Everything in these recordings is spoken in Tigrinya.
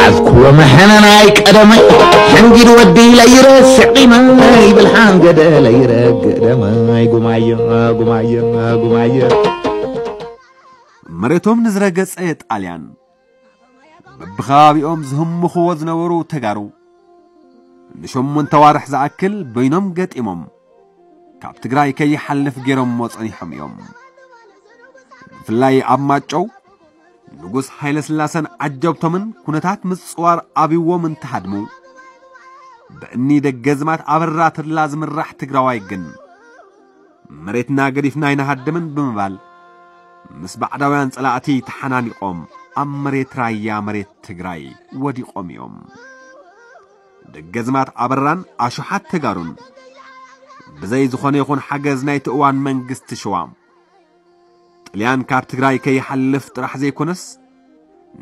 ኣዝክዎ መሐነናይ ቀደመይ፣ ሕንጊድ ወዲ ለይረስዕ ቂመይ፣ ብልሓን ገደ ለይረግእ ደመይ፣ ጉማየ፣ ጉማየ፣ ጉማየ። መሬቶም ንዝረገጸ ጣልያን፣ በብኸባቢኦም ዝህምኽዎ ዝነበሩ ተጋሩ፣ ንሸሞንተ ዋርሕ ዝኣክል በይኖም ገጢሞም፣ ካብ ትግራይ ከይሓልፍ ገይሮምዎ ጸኒሖም እዮም። ብፍላይ ኣብ ማጨው፣ ንጉስ ሃይለ ስላሰን ዓጀብቶምን ኩነታት ምጽዋር ኣብይዎም እንትሃድሙ፣ ብእኒ ደገዝማት ኣበራ ተድላ ዝምራሕ ትግራዋይ ግን፣ መሬትና ገዲፍና ኣይንሃድምን ብምባል፣ ምስ ባዕዳውያን ጸላእቲ ተሓናኒቖም ኣብ መሬት ራያ፣ መሬት ትግራይ ወዲቖም እዮም። ደገዝማት ኣበራን ኣሽሓት ተጋሩን ብዘይ ዝኾነ ይኹን ሓገዝ ናይቲ እዋን መንግስቲ ሸዋ፣ ጥልያን ካብ ትግራይ ከይሓልፍ ጥራሕ ዘይኮነስ፣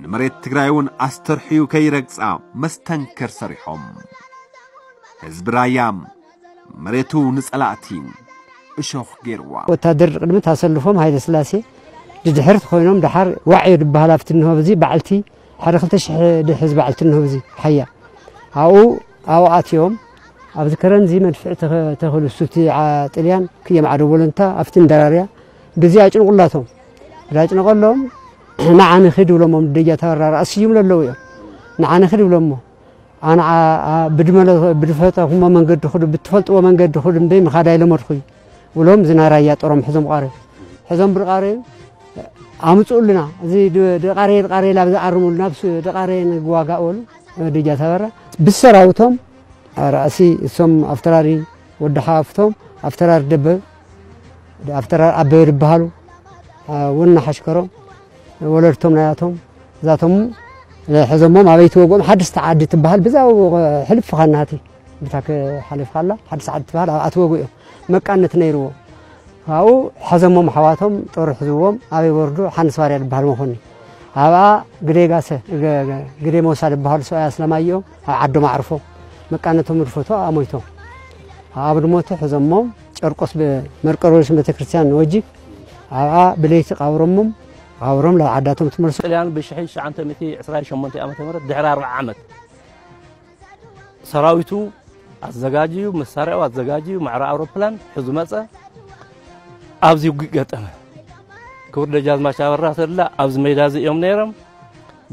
ንመሬት ትግራይ እውን ኣስተርሕዩ ከይረግጻ መስተንክር ሰሪሖም። ህዝቢ ራያ መሬቱ ንጸላእቲ እሾኽ ገይርዋ። ወታደር ቅድሚት ኣሰልፎም ሃይለ ስላሴ ድድሕርት ኮይኖም፣ ደሓር ዋዕዮ ዝበሃል ኣብቲ እንሆ፣ እዚ በዓልቲ ሓደ ክልተ ሽሕ ድሕዝ በዓልቲ እንሆ፣ እዚ ሓያ ኣብኡ፣ ኣብኡ ኣትዮም። ኣብዚ ከረን እዚ መድፍዕ ተኸ-፣ ተኽሉ፣ እሱቲ ዓ-፣ ጥልያን ክየም ዓዶ ቦለንታ ኣብቲ እንደራርያ፣ ግዜ ኣጭንቁላቶም። ዳጭንቀሎም፣ ንዓ ንኺድ ብሎሞም፣ ደጃ ተበራ ራእሲ ይምለለዉ እዮም። ንዓ ንኺድ ብሎሞ፣ ኣነ ዓ-፣ ዓ-፣ ብድመለ-፣ ብድፈጠኹሞ መንገዲ ኹዱ፣ ብትፈልጥዎ መንገዲ ኹዱ እምበይ ምኻድ ኣይለመድኹይ ብሎም፣ እዚ ናይ ራያ ጦሮም ሕዞም ቃረዩ። ሕዞም ብድቃረዩ ኣምጽኡልና። እዚ ድ-፣ ድቃረየ፣ ድቃረየ ላብ ዝኣርሙልና፣ ብስ-፣ ድቃረየ ንዋጋ በሉ። ደጃ ተበራ ብሰራውቶም ራእሲ እሶም ኣፍተራሪ ወዲ ሓፍቶም፣ ኣፍተራሪ ደበብ፣ ኣፍተራሪ ኣበበ ዝበሃሉ፣ አ፣ ወና ሓሽከሮም፣ ወለድቶም ናያቶም፣ እዛቶም ሕዞሞም ኣበይ ትወግኦም፣ ሓድስቲ ዓዲ ትበሃል፣ ብዛ ሕልፍ ኻናቲ፣ ብታ ክሓልፍ ካላ፣ ሓድስቲ ዓዲ ትበሃል፣ ኣብኣ ትወግኡ እዮም። መቃነት ነይርዎ። ካብኡ ሕዞሞም ኣሕዋቶም፣ ጦር ሕዝዎም፣ ኣበይ ወርዱ፣ ሓንስ ባርያ ዝበሃል መኾኒ። ኣብኣ ግደይ ጋሰ፣ ገ-፣ ገ-፣ ግደይ ሞሳ ዝበሃሉ ሰብኣይ ኣስለማይ እዮም፣ ኣብ ዓዶም ኣዕርፎም። መቃነቶም ርፈቶ ኣሞይቶም። ኣብ ድሞቱ ሕዞሞም፣ ጨርቆስ ብ-፣ መርቆሬዎስ ቤተክርስትያን ወጂ፣ ኣብኣ ብለይቲ ቀብሮሞም፣ ቀብሮም ናብ ዓዳቶም ትመልሱ። ጥልያን ብሽሕቲ ትሽዓተ ሚእቲ ዕስራን ሸሞንተን ዓመተ ምህረት ድሕሪ ኣርብዓ ዓመት ሰራዊቱ ኣዘጋጅዩ፣ መሳርያኡ ኣዘጋጅዩ፣ ማዕረ ኣውሮፕላን ሒዙ መጸ። ኣብዚ ውግእ ገጠመ። ክቡር ደጃዝማች ኣበራ ተድላ ኣብዚ ሜዳ እዚ እዮም ነይሮም።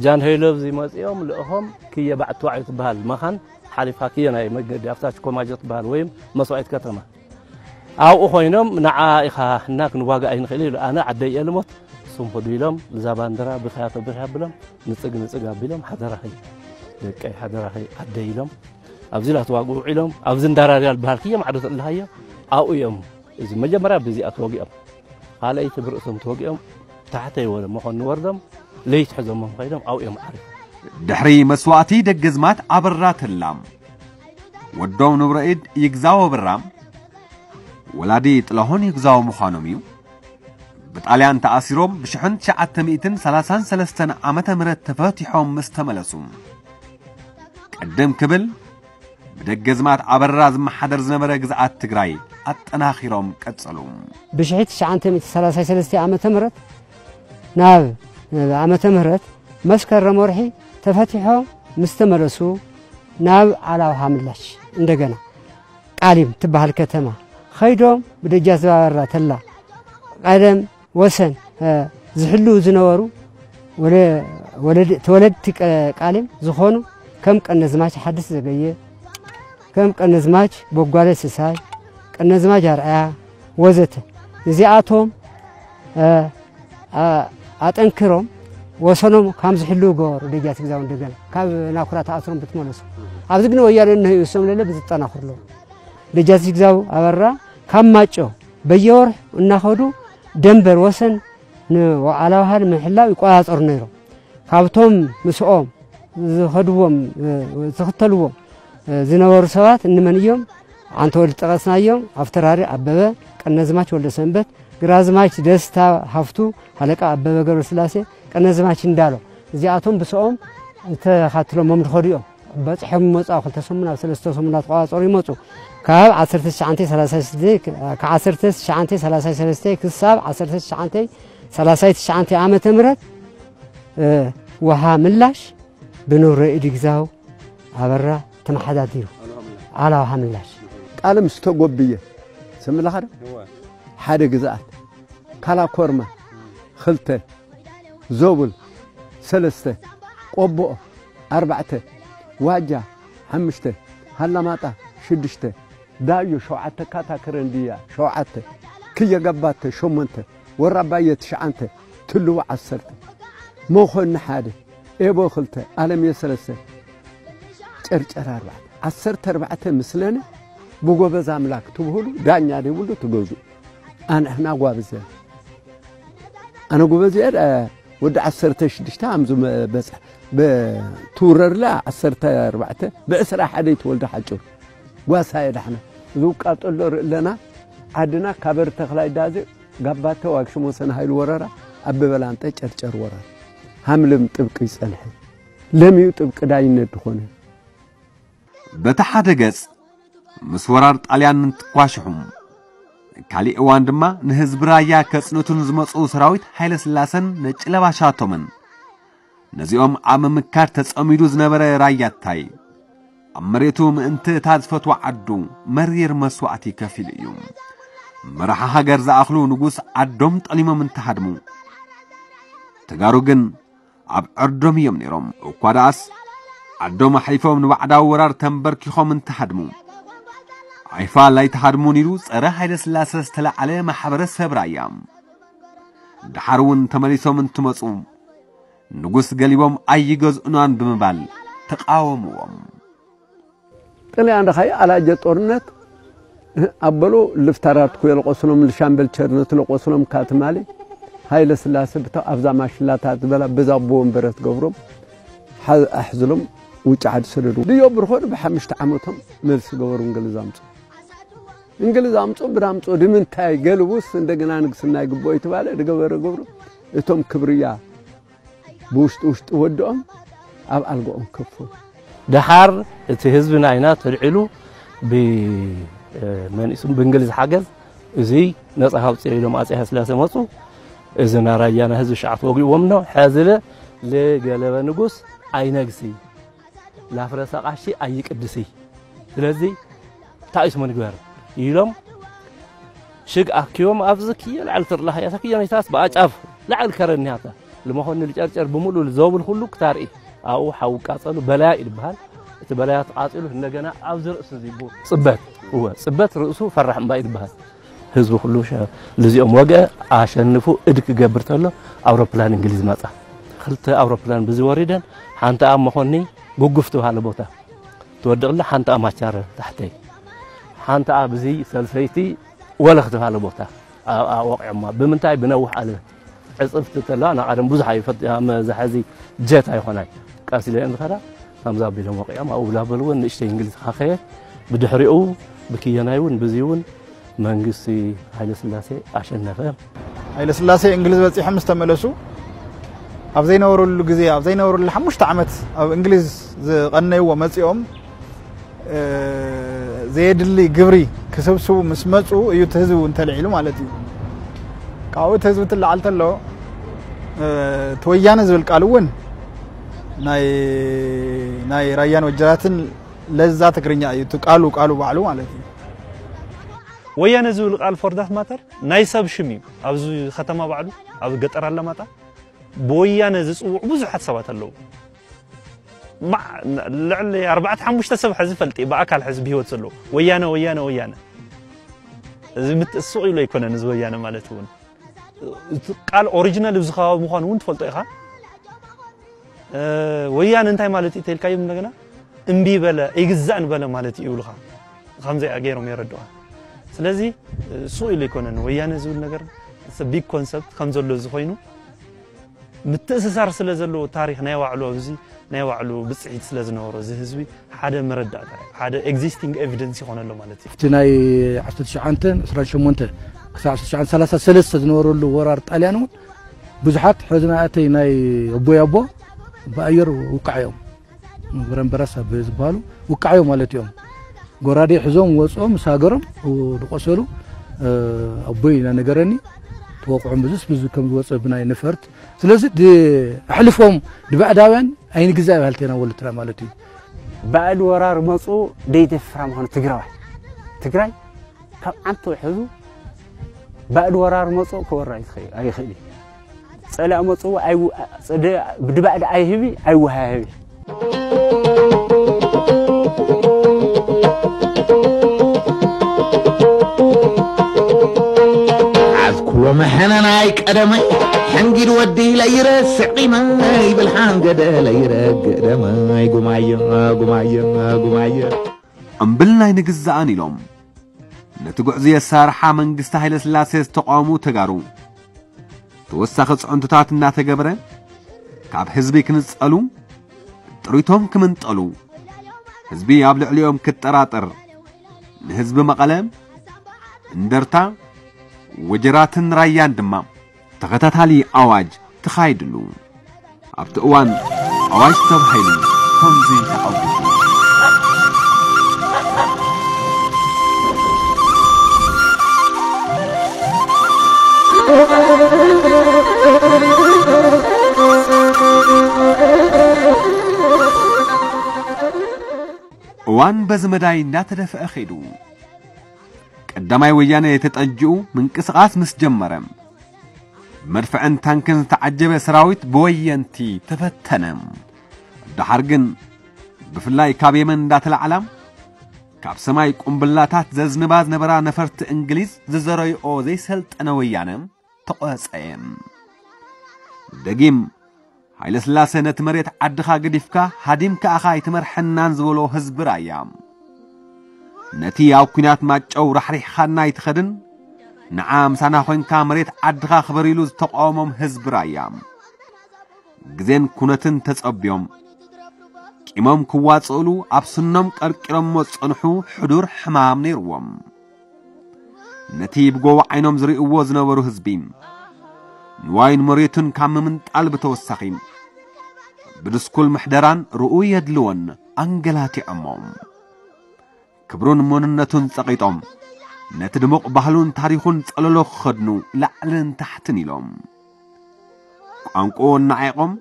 ጃንሆይ ኣብዚ መጺኦም ልእኾም ክየ ባዕቲ ዋዕዮ ትበሃል መኻን ሓሊፋ ክየ ናይ መገዲ ኣብታ ሽኮማጆ ትበሃል ወይም መስዋዕት ከተማ። ኣብኡ ኮይኖም ንዓ ኢኻ እና ክንዋጋእ ኣይንኽእል ኢሉ፣ ኣነ ዓደይ እየ ልሞት፣ እሱም ኹዱ ኢሎም፣ እዛ ባንዲራ ብኽያ ተብርህ ኣብሎም፣ ንጽግ ንጽግ ኣቢሎም፣ ሓደራኺ ደቀይ፣ ሓደራኺ ዓደይ ኢሎም፣ ኣብዚ ላተዋግኡ ውዒሎም፣ ኣብዚ እንዳራርያ ልበሃል ክየ ማዕዶ ተልሃዮ፣ ኣብኡ እዮም። እዚ መጀመርያ ብዚኣ ተወጊኦም፣ ካልኣይቲ ብርእሶም ተወጊኦም፣ ታሕተይ ወደ መኾኒ ወርዶም፣ ለይት ሕዞሞም ኸይዶም፣ ኣብኡ እዮም ዓሪፎም። ድሕሪ መስዋእቲ ደገዝማት ኣበራ ተላ፣ ወዶም ንብረኢድ ይግዛው ኣበራ፣ ወላዲ ጥላሁን ይግዛው ምዃኖም እዩ። ብጣልያን ተኣሲሮም ብሽሕን ትሽዓተ ሚእትን ሰላሳን ሰለስተን ዓመተ ምህረት ተፈቲሖም ምስ ተመለሱ፣ ቅድም ክብል ብደገዝማት ኣበራ ዝመሓደር ዝነበረ ግዝኣት ትግራይ ኣጠናኺሮም ቀጸሉ። ብሽሕቲ ትሽዓተ ሚእቲ ሰላሳ ሰለስተ ዓመተ ምህረት ናብ ዓመተ ምህረት መስከረም ወርሒ ተፈቲሖም ምስ ተመለሱ፣ ናብ ዓላውሃ ምላሽ እንደገና ቃሊም ትበሃል ከተማ ኸይዶም፣ ብደጃዝማች ኣበራ ተላ ቀደም ወሰን፣ እ፣ ዝሕልዉ ዝነበሩ ወለ-፣ ወለድ-፣ ተወለድቲ ቀ-፣ ቃሊም ዝኾኑ ከም ቀነዝማች ሓድስ ዘገየ፣ ከም ቀነዝማች ቦጓለ ስሳይ፣ ቀነዝማች ኣርኣያ ወዘተ፣ እዚኣቶም፣ እ፣ ኣ-፣ ኣጠንክሮም ወሰኖም ከም ዝሕልዉ ገበሩ። ደጃዝማች ይግዛው እንደገና ካብ ናኩራ ተኣስሮም ብትመለሱ፣ ኣብዚ ግን ወያነ እንሀዩ እሶም ለለ ብዝጠናኽርሎም። ደጃዝማች ይግዛው ኣበራ ካብ ማጮ በየወርሑ እናኸዱ ደንበር ወሰን ንዓላውሃ ንምሕላው ይቆጻጸሩ ነይሮም። ካብቶም ምስኦም ዝኸድዎም፣ እ፣ ዝኽተልዎም፣ እ፣ ዝነበሩ ሰባት እንመን እዮም? ዓንተወልድ ጠቐስናዮም፣ ኣፍተራሪ ኣበበ፣ ቀነዝማች ወልደሰንበት፣ ግራዝማች ደስታ ሃፍቱ፣ ሃለቃ ኣበበ ገብረስላሴ፣ ቀነዝማች እንዳሎ። እዚኣቶም ብስኦም ተኻትሎሞም ዝኸዱ እዮም። በፂሖም ይመፁ፣ ኣብ ክልተ ሰሙን፣ ኣብ ሰለስተ ሰሙን እናተቋፃፀሩ ይመፁ። ካብ ዓሰርተ ትሽዓተ ሰላሳ ሽዱሽተ፣ ካብ ዓሰርተ ትሽዓተ ሰላሳ ሰለስተ ክሳብ ዓሰርተ ትሽዓተ ሰላሳ ትሽዓተ ዓመተ ምህረት፣ እ፣ ውሃ ምላሽ ብንብረ ኢድ ግዛው ኣበራ ተመሓዳዲሩ። ኣላ ውሃ ምላሽ። ቃልም ዝተጎብየ ስምልኻ ዶ? ሓደ ግዝኣት፣ ካላ ኮርማ፣ ክልተ፣ ዞብል፣ ሰለስተ፣ ቆቦኦ፣ ኣርባዕተ፣ ዋጃ፣ ሓምሽተ፣ ሃላማጣ፣ ሽዱሽተ፣ ዳዮ፣ ሸውዓተ፣ ካታክረንድያ፣ ሸውዓተ፣ ክየገባተ፣ ሸሞንተ፣ ወራባየ፣ ትሽዓንተ፣ ትልዋ፣ ዓሰርተ፣ መኾኒ፣ ሓደ፣ ኤቦ፣ ክልተ፣ ኣለምየ፣ ሰለስተ፣ ጨርጨር፣ ኣርባዕተ፣ ዓሰርተ ኣርባዕተ ምስለነ ብጎበዝ ኣምላክ ትብህሉ ዳኛ ዘይብሉ ትገዙ። ኣንሕና ጓብዘ ኣነ ጎበዝ እየ፣ እ፣ ወዲ ዓሰርተ ሽዱሽተ ኣምዙ መ-፣ በጽሕ-፣ ብ-፣ ትውረርላ ዓሰርተ ኣርባዕተ፣ ብዕስራ ሓደ ይትወልደ ሓጭሩ። ጓሳ እየ ዳሕና። ዝውቃጠሎ ርእለና፣ ዓድና ካበር ተኽላይ ዳዜ፣ ጋባተ ዋግሽሞሰን ሃይሉ ወረራ፣ ኣብ በላንጠ ጨርጨር ወረራ። ሃምልም ጥብቂ ይጸንሐ። ለምዩ ጥብቂ ዳይነት ዝኾነ። በቲ ሓደ ገጽ፣ ምስ ወራር ጣልያን እንትኳሽሑ፣ ካሊእ እዋን ድማ ንህዝቢ ራያ ከጽንቱ ንዝመጹ ሰራዊት ሃይለ ስላሰን ነጭ ለባሻቶምን፣ ነዚኦም ኣብ ምምካር ተጸሚዱ ዝነበረ ራያታይ፣ ኣብ መሬቱ ምእንቲ እታ ዝፈትዋ ዓዱ መሪር መስዋእቲ ከፊሉ እዩ። መራሒ ሃገር ዝኣኽሉ ንጉስ ዓዶም ጠሊሞም እንተሃድሙ፣ ተጋሩ ግን ኣብ ዕርዶም እዮም ነይሮም። እኳ ደኣስ፣ ዓዶም ኣሕሊፎም ንባዕዳዊ ወራር ተንበርኪኾም እንተሃድሙ፣ ኣይፋል ኣይትሃድሙን ኢሉ ጸረ ሃይለ ስላሰ ዝተላዕለ ማሕበረሰብ ራያ። ደሓር እውን ተመሊሶም እንትመጹ፣ ንጉስ ገሊቦም ኣይገዝኡናን ብምባል ተቃወምዎም። ጥልያን ደኻይ ኣላጀ ጦርነት ኣበሉ ልፍታራት ኩ ለቆስሎም፣ ልሻምበል ቸርነት ለቆስሎም፣ ካትማሊ ሃይለ ስላሰ ብታ ኣብዛ ማሽላታት ዝበላ ብዛ ኣቦ ወንበረት ገብሮም ሓ-፣ ኣሕዝሎም ውጭ ዓዲ ሰደዱ። ድዮ ብርኾድ ብሓምሽተ ዓመቶም መልሲ ገበሩ እንግሊዝ ኣምፁ። እንግሊዝ ኣምፁ ብዳምፁ ድምንታይ ገልቡስ እንደገና ንግስና ይግብኦ ይትባለ ድገበረ ገብሩ እቶም ክብርያ ብውሽጢ ውሽጢ ወድኦም ኣብ ኣልጋኦም ከፈሉ። ደሓር እቲ ህዝቢ ናይና ተልዒሉ ብ-፣ እ፣ መን እዩ ስሙ ብእንግሊዝ ሓገዝ እዚ ነጻ ካውፅኦ ኢሎም ኣጼ ሃይለስላሴ መጹ። እዚ ናራያና ህዝቢ ሸዓት ወጊእዎም ነው። ሕዚ ለ-፣ ለገለበ ንጉስ ኣይነግሲ፣ ላፍረሰ ቃሺ ኣይቅድሲ። ስለዚ እንታይ እዩ ስሙ ንግበር ኢሎም ሽግ ኣኪቦም ኣብዚ ክዮ ላዕሊ ትርላህ እያ ተክዮ ነይታስ ብኣጫፍ ላዕሊ ከረን እያታ። ልመኾኒ ልጨርጨር ብምሉእ ልዘውብል ኩሉ ክታርኢ ኣብኡ ሓዊ ቃጸሉ በላያ እዩ ዝበሃል። እቲ በላያ ተቃጺሉ እንደገና ኣብዚ ርእሱ እዚ ቡ-፣ ጽበት፣ እወ፣ ጽበት ርእሱ ፈራሕ እምባ እዩ ዝበሃል። ህዝቢ ኩሉ ሸ-፣ ልዚኦም ወገ ኣሸንፉ እድ ክገብር ተሎ ኣውሮፕላን እንግሊዝ መጻ። ክልተ ኣውሮፕላን ብዚ ወሪደን ሓንቲ ኣብ መኾኒ ጉጉፍ ትበሃለ ቦታ ትወድቕላ፣ ሓንቲ ኣብ ማቻረ ታሕተይ፣ ሓንቲ ኣብ እዚ ሰልፈይቲ ወለኽ ትበሃለ ቦታ ኣብኣ ወቂዖማ። ብምንታይ? ብነዊሕ ኣለበት። ዕጽፍቲ ተላ ንቐደም ብዙሕ ኣይፈጥ-፣ መዛሕዚ ጀት ኣይኾናይ። ቀስ ኢለን ዝኸዳ ከምዛ ኣቢሎም ወቂዖም፣ ኣብኡ ብላበልዎ ንእሽተይ እንግሊዝ ካኸየ። ብድሕሪኡ ብክየናይ እውን ብዚ እውን መንግስቲ ሃይለ ስላሴ ኣሸነፈ። ሃይለ ስላሴ እንግሊዝ በጺሖም ምስ ተመለሱ፣ ኣብ ዘይነበሩሉ ግዜ፣ ኣብ ዘይነበሩሉ ሓሙሽተ ዓመት ኣብ እንግሊዝ ዝቐነይዎ መጺኦም፣ እ፣ ዘየድሊ ግብሪ ክስብስቡ ምስ መጹ እዩ እቲ ህዝቢ እውን ተልዒሉ ማለት እዩ። ካብኡ እቲ ህዝቢ ትለዓል ተሎ፣ እ፣ እቲ ወያነ ዝብል ቃል እውን ናይ፣ ናይ ራያን ወጀራትን ለዛ ትግርኛ እዩ። እቲ ቃሉ፣ ቃሉ ባዕሉ ማለት እዩ። ወያነ ዝብል ቃል for that matter ናይ ሰብ ሽም እዩ። ኣብዚ ከተማ ባዕሉ፣ ኣብ ገጠር ኣለማጣ ብወያነ ዝጽውዑ ብዙሓት ሰባት ኣለዉ። ማ-፣ ልዕሊ ኣርባዕተ ሓሙሽተ ሰብ ሕዚ ፈልጥ እየ፣ ብኣካል ሕዚ ብህይወት ዘለዉ። ወያነ፣ ወያነ፣ ወያነ። እዚ ምት-፣ ስቕ ኢሉ ኣይኮነን፣ እዚ ወያነ ማለት እውን። እቲ ቃል ኦሪጂናል ኣብዚ ከባቢ ምዃኑ እውን ትፈልጦ ኢኻ። እ፣ ወያነ እንታይ ማለት እዩ ተልካዮም እንደገና? እምቢ በለ፣ ኣይግዛእን በለ ማለት እዩ ይብሉኻ። ከምዚኣ ገይሮም የረድኡኻ። ስለዚ፣ እ፣ ስቕ ኢሉ ኣይኮነን። ወያነ ዝብል ነገር it's a big concept ከም ዘሎ እዚ ኮይኑ፣ ምትእስሳር ስለ ዘለዎ ታሪኽ ናይ ባዕሉ ኣብዚ ናይ ባዕሉ ብጽሒት ስለ ዝነበሮ እዚ ህዝቢ ሓደ መረዳእታ፣ ሓደ ኤግዚስቲንግ ኤቪደንስ ይኾነ ኣሎ ማለት እዩ። እቲ ናይ ዓሰርተ ትሽዓተ ዕስራን ሸሞንተ ክሳብ ዓሰርተ ትሽዓተ ሰላሳ ሰለስተ ዝነበረሉ ወራር ጣልያን እውን ብዙሓት ሕዚ ናተይ ናይ ኣቦይ ኣቦ ብኣየር ውቃዕ እዮም። ብረምበራስ ኣብ ዝበሃሉ ውቃዕ እዮም ማለት እዮም። ጎራዴ ሒዞም ወፅኦም ምስ ሃገሮም ዝቆሰሉ፣ ኣቦይ እናነገረኒ፣ ተወቅዖም ብዙስ ብዙ ከም ዝወፀ ብናይ ነፈርት። ስለዚ ኣሕልፎም ንባዕዳውያን ኣይንግዛእ ባህልቴና ወልትና ማለት እዩ። ባዕድ ወራር መፁ፣ ደይደፍራ ምዃኑ ትግራዋይ ትግራይ ካብ ዓንቱ ሕዙ ባእድ ወራር መጽኡ ክወራ ኣይኽእል እዩ። ጸላእ መጽኡ ብድባእድ ኣይህቢ ኣይወሃህቢ። ኣዝኩሎ መሐነናይ ቀደመይ ሕንጊድ ወዲ ለይረስዕ ቂመይ ብልሓን ገደ ለይረግእ ደመይ ጉማየ ጉማየ ጉማየ። እምብል ናይ ንግዛእን ኢሎም ነቲ ጉዕዞ የሳርሓ መንግስቲ ሃይለስላሴ ዝተቃወሙ ተጋሩ ተወሳኺ ጽዕንቶታት እናተገበረ ካብ ህዝቢ ክንጸሉ ጥሪቶም ክምንጠሉ ህዝቢ ኣብ ልዕሊኦም ክጠራጠር ንህዝቢ መቐለ እንደርታ ወጀራትን ራያን ድማ ተኸታታሊ ኣዋጅ ተኻይድሉ ኣብቲ እዋን ኣዋጅ ተባሂሉ ከምዚ ተዓዊቱ። እዋን በዚ መዳይ እንዳተደፍአ ኸይዱ። ቀዳማይ ወያነ ተጠጅኡ ምንቅስቓስ ምስ ጀመረ፣ ብመድፍዕን ታንክን ዝተዓጀበ ሰራዊት ብወየንቲ ተፈተነ። ደሓር ግን ብፍላይ ካብ የመን እንዳተላዕላ ካብ ሰማይ ቁምብላታት ዘዝንባ ዝነበራ ነፈርቲ እንግሊዝ ዝዘረይኦ ዘይሰልጠነ ወያነ ተቖጸየ። ደጊም ሃይለስላሴ ነቲ መሬት ዓድኻ ገዲፍካ ሃዲምካ ኢኻ ኣይትመርሐናን ዝበሎ ህዝቢ ራያ ነቲ ኣብ ኲናት ማጨው ራሕሪሕኻና ኣይትኸድን ንዓ ምሳና ኮይንካ መሬት ዓድኻ ክበር ኢሉ ዝተቃወሞም ህዝቢ ራያ ግዜን ኩነትን ተጸብዮም ቂሞም ክዋጽእሉ ኣብ ስኖም ቀርቂሮሞ ዝጸንሑ ሕዱር ሕማም ነይርዎም። ነቲ ብጎቦ ዓይኖም ዝርእይዎ ዝነበሩ ህዝቢ ንዋይን መሬቱን ካብ ምምንጣል ብተወሳኺ ብድስኩል ምሕደራን ርኡይ የድልዎን ኣንገላቲዖሞ። ክብሩን መንነቱን ጸቒጦም ነቲ ድሙቕ ባህሉን ታሪኹን ጸለሎ ክኸድኑ ላዕልን ታሕትን ኢሎም ቋንቋኡ እናዓቖም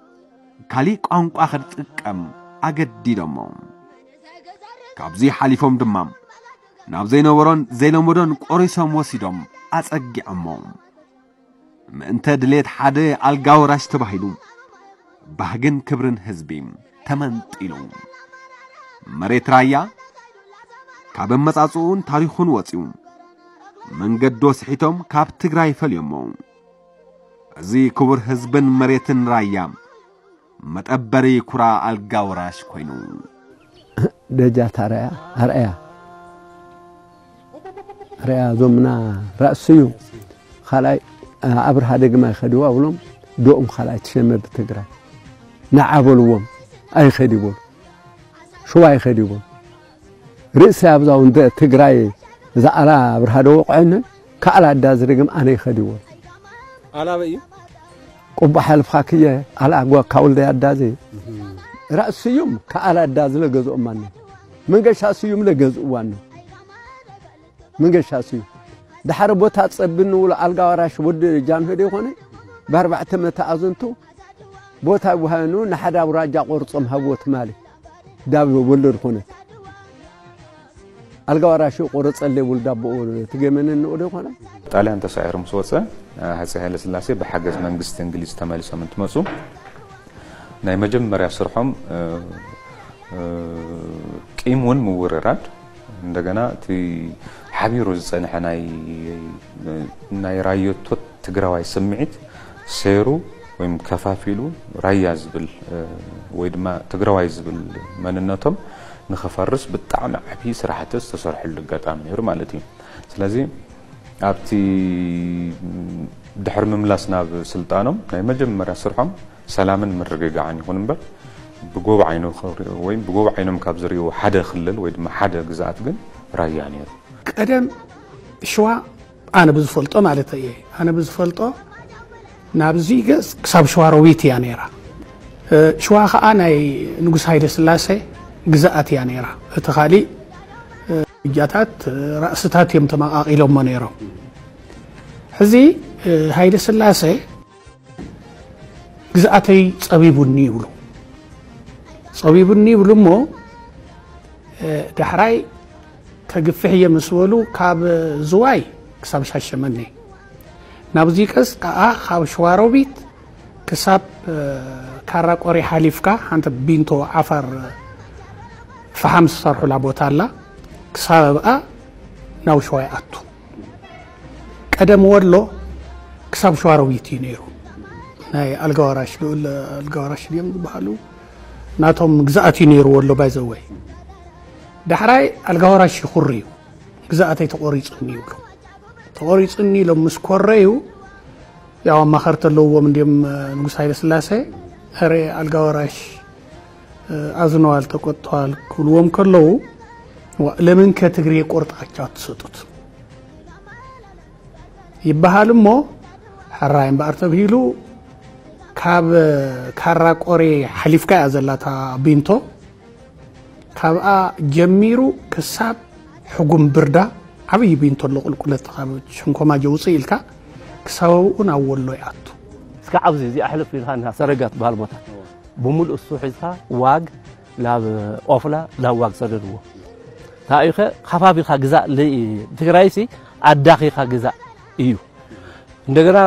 ካሊእ ቋንቋ ክጥቀም ኣገዲዶሞ። ካብዚ ሓሊፎም ድማ ናብ ዘይነበሮን ዘይለመዶን ቆሪሶም ወሲዶም ኣጸጊዖሞ። ምእንተ ድሌት ሓደ ኣልጋ ወራሽ ተባሂሉ ባህግን ክብርን ህዝቢ ተመንጢሉ። መሬት ራያ ካብ ኣመጻጽኡን ታሪኹን ወጺኡ መንገዶ ስሒቶም ካብ ትግራይ ፈልዮሞ። እዚ ክቡር ህዝብን መሬትን ራያ መጠበሪ ኩራ ኣልጋ ወራሽ ኮይኑ። ደጃት ኣርኣያ ኣርኣያ ኣርኣያ እዞምና ራእሲ እዩ። ካልኣይ ኣብርሃ ደግማ ይኸድዎ ኣብሎም ዶኦም ካልኣይ ትሸመ ብትግራይ ንዓ በልዎም ኣይኸድ ይበሉ ሽዋ ይኸድ ይበሉ ርእሲ ኣብዛ ውንደ ትግራይ እዛ ኣላ ኣብርሃ ደወቕዐነ ከኣላ ኣዳ ዝደግም ኣነ ይኸድ ይበሉ ኣላበ እዩ ቁባ ሓልፍኻ ክየ ኣላ ጓ ካውልደ ኣዳዚ ራእሲ ስዩም ከኣላ ኣዳ ዝለገዝኦም ማነ መንገሻ ስዩም ለገዝእዋን መንገሻ ስዩም ድሓረ ቦታ ጸቢ ንብሎ ኣልጋ ወራሽ ወዲ ጃንሆ ዶ ይኾነ ብኣርባዕተ መተኣዝንቱ ቦታ ይወሃበኑ ንሓደ ኣውራጃ ቆርጾም ሃብዎ ትማሊ ዳብ ወለድ ኮነት ኣልጋ ወራሽ ቆረጸለይ ውልድ ኣቦኡ ትገመነ ንኡ ዶ ይኾነ ጣልያን ተሳዒሩ ምስ ወፀ ሃፀይ ሃይለስላሴ ብሓገዝ መንግስቲ እንግሊዝ ተመሊሶም እንትመፁ ናይ መጀመርያ ስርሖም ቂም እውን ምውርራድ እንደገና እቲ ሓቢሩ ዝፀንሐ ናይ ናይ ራዮቶት ትግራዋይ ስምዒት ሴሩ ወይም ከፋፊሉ ራያ ዝብል ወይ ድማ ትግራዋይ ዝብል መንነቶም ንኸፈርስ ብጣዕሚ ዓብዪ ስራሕቲ ዝተሰርሐሉ ኣጋጣሚ ነይሩ ማለት እዩ። ስለዚ ኣብቲ ድሕሪ ምምላስ ናብ ስልጣኖም ናይ መጀመርያ ስርሖም ሰላምን ምርግጋዕን ይኹን እምበር ብጎብ ዓይኖም ካብ ዝርእይዎ ሓደ ክልል ወይ ድማ ሓደ ግዝኣት ግን ራያ ነይሩ። ቀደም ሽዋ ኣነ ብዝፈልጦ ማለት እየ ኣነ ብዝፈልጦ ናብዚ ገፅ ክሳብ ሸዋሮቢት እያ ነይራ። ሽዋ ከዓ ናይ ንጉስ ሃይለ ስላሴ ግዝኣት እያ ነይራ። እቲ ካሊእ እጃታት ራእስታት እዮም ተመቃቂሎሞ ነይሮም። ሕዚ ሃይለ ስላሴ ግዝኣተይ ጸቢቡኒ ይብሉ። ጸቢቡኒ ይብሉ እሞ ዳሕራይ ከግፍሕ እየ ምስ በሉ ካብ ዝዋይ ክሳብ ሻሸመኔ ናብዚ ቀስ ከዓ ካብ ሸዋሮቢት ክሳብ ካራ ቆሪ ሓሊፍካ ሓንቲ ቢንቶ ዓፋር ፈሓም ዝሰርሑላ ቦታ ኣላ። ክሳብ ኣብኣ ናብ ሸዋ ይኣቱ። ቀደም ወሎ ክሳብ ሸዋሮቢት እዩ ነይሩ። ናይ ኣልጋዋራሽ ልኡል ኣልጋዋራሽ ድዮም ዝበሃሉ ናቶም ግዝኣት እዩ ነይሩ ወሎ ባይዘወይ። ዳሕራይ ኣልጋዋራሽ ይኹሪ እዩ። ግዝኣተይ ተቆሪፁኒ ይብሉ። ተቆሪፁኒ ኢሎም ምስ ኮረዩ ያው ኣማኸርቲ ኣለውዎም እንዲም ንጉስ ሃይለ ስላሴ ረ ኣልጋዋራሽ አዝነዋል ተቆጥተዋል ክብልዎም ከለዉ ለምን ከትግሬ ቆርጣቸው አትሰጡት ይበሃል እሞ ሕራይ እምበኣር ተብሂሉ ካብ ካራ ቆሬ ሓሊፍካ እያ ዘላታ ቢንቶ። ካብኣ ጀሚሩ ክሳብ ሕጉም ብርዳ ዓብዪ ቢንቶ ኣሎ ቁልቁለት ካብ ሸንኮማ ጀውፅእ ኢልካ ክሳብ ኣብኡ ናብ ወሎ ይኣቱ። እስከ ኣብዚ እዚኣ ሕልፍ ኢልካ እንዳ ሰረጋ ትበሃል ቦታ ብምሉእ እሱ ሒዝካ ዋግ ናብ ኦፍላ ናብ ዋግ ሰደድዎ። ታይኸ ከባቢኻ ግዛእ ል- ትግራይሲ ኣዳኺኻ ግዛእ እዩ። እንደገና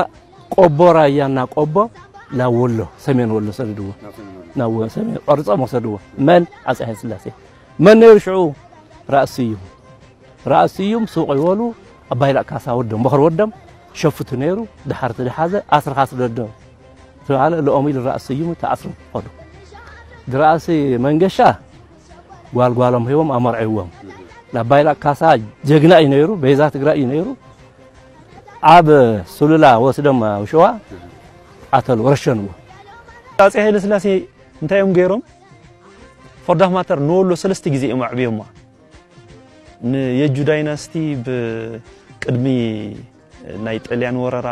ቆቦ ራያና ቆቦ ናብ ወሎ ሰሜን ወሎ ሰደድዎ። ናብ ወ- ሰሜን ቆርጾም ወሰድዎ። መን? ኣጼ ሃይለ ስላሴ። መን ነይሩ ሽዑ? ራእሲ እዩ። ራእሲ እዩም ሱቕ ይበሉ። ኣባይ ላእ ካሳ ወዶም በኽሪ ወዶም ሸፍቱ ነይሩ። ድሓርቲ ድሓዘ ኣስርኻ ስደዶ ተባለ። ልኦም ኢሉ ራእሲ እዩም ተኣስሩ ኸዱ። ድራእሲ መንገሻ ጓልጓሎም ሂቦም ኣመርዕዎም። ኣባይ ላእ ካሳ ጀግና እዩ ነይሩ። ቤዛ ትግራይ እዩ ነይሩ። ኣብ ሱሉላ ወስዶም ኣብ ሸዋ ኣተሉ ረሸንዎ። ኣጼ ሃይለ ስላሴ እንታይ እዮም ገይሮም? ፎርዳፍ ማተር ንወሎ ሰለስተ ግዜ እዮም ኣዕብዮማ። ንየጁ ዳይናስቲ ብቅድሚ ናይ ጥልያን ወረራ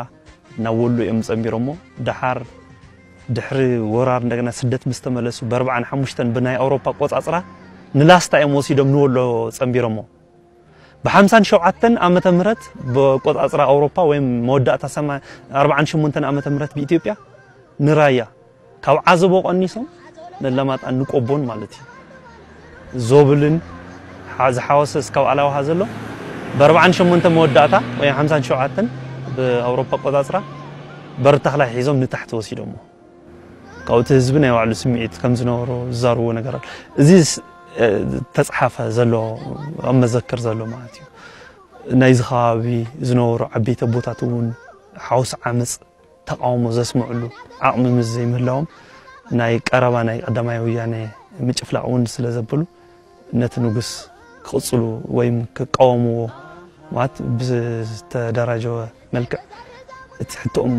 ናብ ወሎ እዮም ጸንቢሮሞ። ደሓር ድሕሪ ወራር እንደገና ስደት ምስ ተመለሱ ብ45 ብናይ ኣውሮፓ ቆጻጽራ ንላስታ እዮም ወሲዶም ንወሎ ጸንቢሮሞ። ብ57 ዓመተ ምህረት ብቆጻጽራ ኣውሮፓ ወይም መወዳእታ ሰማ- 48 ዓመተ ምህረት ብኢትዮጵያ ንራያ ካብ ዓዘቦ ቀኒሶም ነለማጣን ንቆቦን ማለት እዩ። ዞብልን ሓ- ዝሓወሰ እስካብ ኣላውሃ ዘሎ ብ48 መወዳእታ ወይ 57 ብኣውሮፓ ኣቆጻጽራ በሪ ተኽላይ ሒዞም ንታሕቲ ወሲዶሞ። ካብኡ እቲ ህዝቢ ናይ ባዕሉ ስምዒት ከም ዝነበሮ ዝዛረቦ ነገር ኣሎ። እዚ ስ- እ፣ ተጻሓፈ ዘሎ ኣብ መዘክር ዘሎ ማለት እዩ። ናይዚ ከባቢ ዝነበሩ ዓበይቲ ኣቦታት እውን ሓውስ ዓመፅ ተቃውሞ ዘስምዕሉ ዓቕሚ ምስ ዘይምህላዎም ናይ ቀረባ ናይ ቀዳማይ ወያነ ምጭፍላቕ እውን ስለ ዘበሉ ነቲ ንጉስ ክቕጽሉ ወይም ክቃወምዎ ማለት ብዝተደራጀወ መልክዕ እቲ ሕቶኦም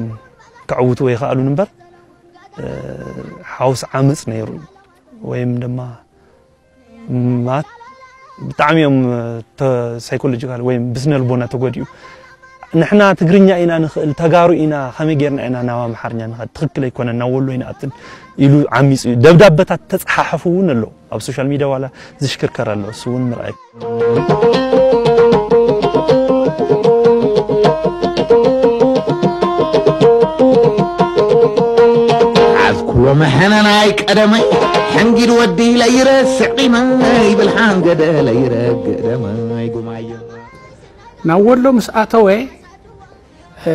ከዕውትዎ ይኽኣሉን እምበር እ፣ ሓውስ ዓመፅ ነይሩ ወይም ድማ ማለት ብጣዕሚ እዮም ሳይኮሎጂካል ወይም ብስነ ልቦና ተጎዲኡ። ንሕና ትግርኛ ኢና ንኽእል፣ ተጋሩ ኢና፣ ከመይ ጌርና ኢና ናብ ኣምሓርኛ ንኸድ? ትኽክል ኣይኮነን፣ ናብ ወሎ ይንኣትን ኢሉ ዓሚፁ እዩ። ደብዳበታት ተፀሓሐፉ እውን ኣሎ ኣብ ሶሻል ሚድያ ዋላ ዝሽክርከር ኣሎ። እሱ እውን ምርኣይ ኣዝኩሎ መሐነናይ ቀደመይ ሕንጊድ ወዲ ለይረስዕ ቂመይ ብልሓን ገደ ለይረግእ ደመይ ጉማዮ ናብ ወሎ ምስ ኣተወ እ፣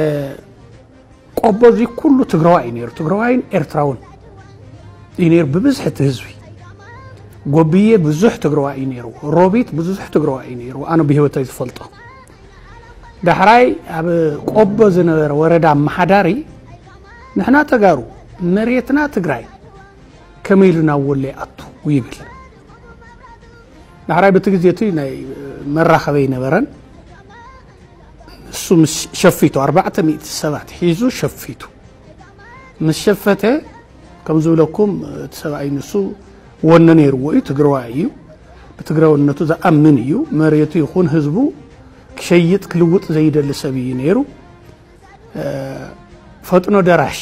ቆቦ እዚ ኩሉ ትግራዋይ እዩ ነይሩ። ትግራዋይን ኤርትራውን እዩ ነይሩ ብብዝሒ እቲ ህዝቢ። ጎብዬ ብዙሕ ትግራዋይ እዩ ነይሩ። ሮቢት ብዙሕ ትግራዋይ እዩ ነይሩ። ኣነ ብህይወተይ ዝፈልጦ ዳሕራይ ኣብ ቆቦ ዝነበረ ወረዳ ኣመሓዳሪ ንሕና ተጋሩ መሬትና ትግራይ ከመይ ኢሉ ናብ ወሎ ይኣቱ ይብል። ዳሕራይ በቲ ግዜ እቲ ናይ መራኸቢ ኣይነበረን። እሱ ምስ ሸፊቱ ኣርባዕተ ሚእቲ ሰባት ሒዙ ሸፊቱ ምስ ሸፈተ ከም ዝብለኩም እቲ ሰብኣይ ንሱ ወነ ነይርዎ እዩ። ትግራዋይ እዩ። ብትግራውነቱ ዝኣምን እዩ። መሬቱ ይኹን ህዝቡ ክሸይጥ ክልውጥ ዘይደሊ ሰብ እዩ ነይሩ። ፈጥኖ ደራሽ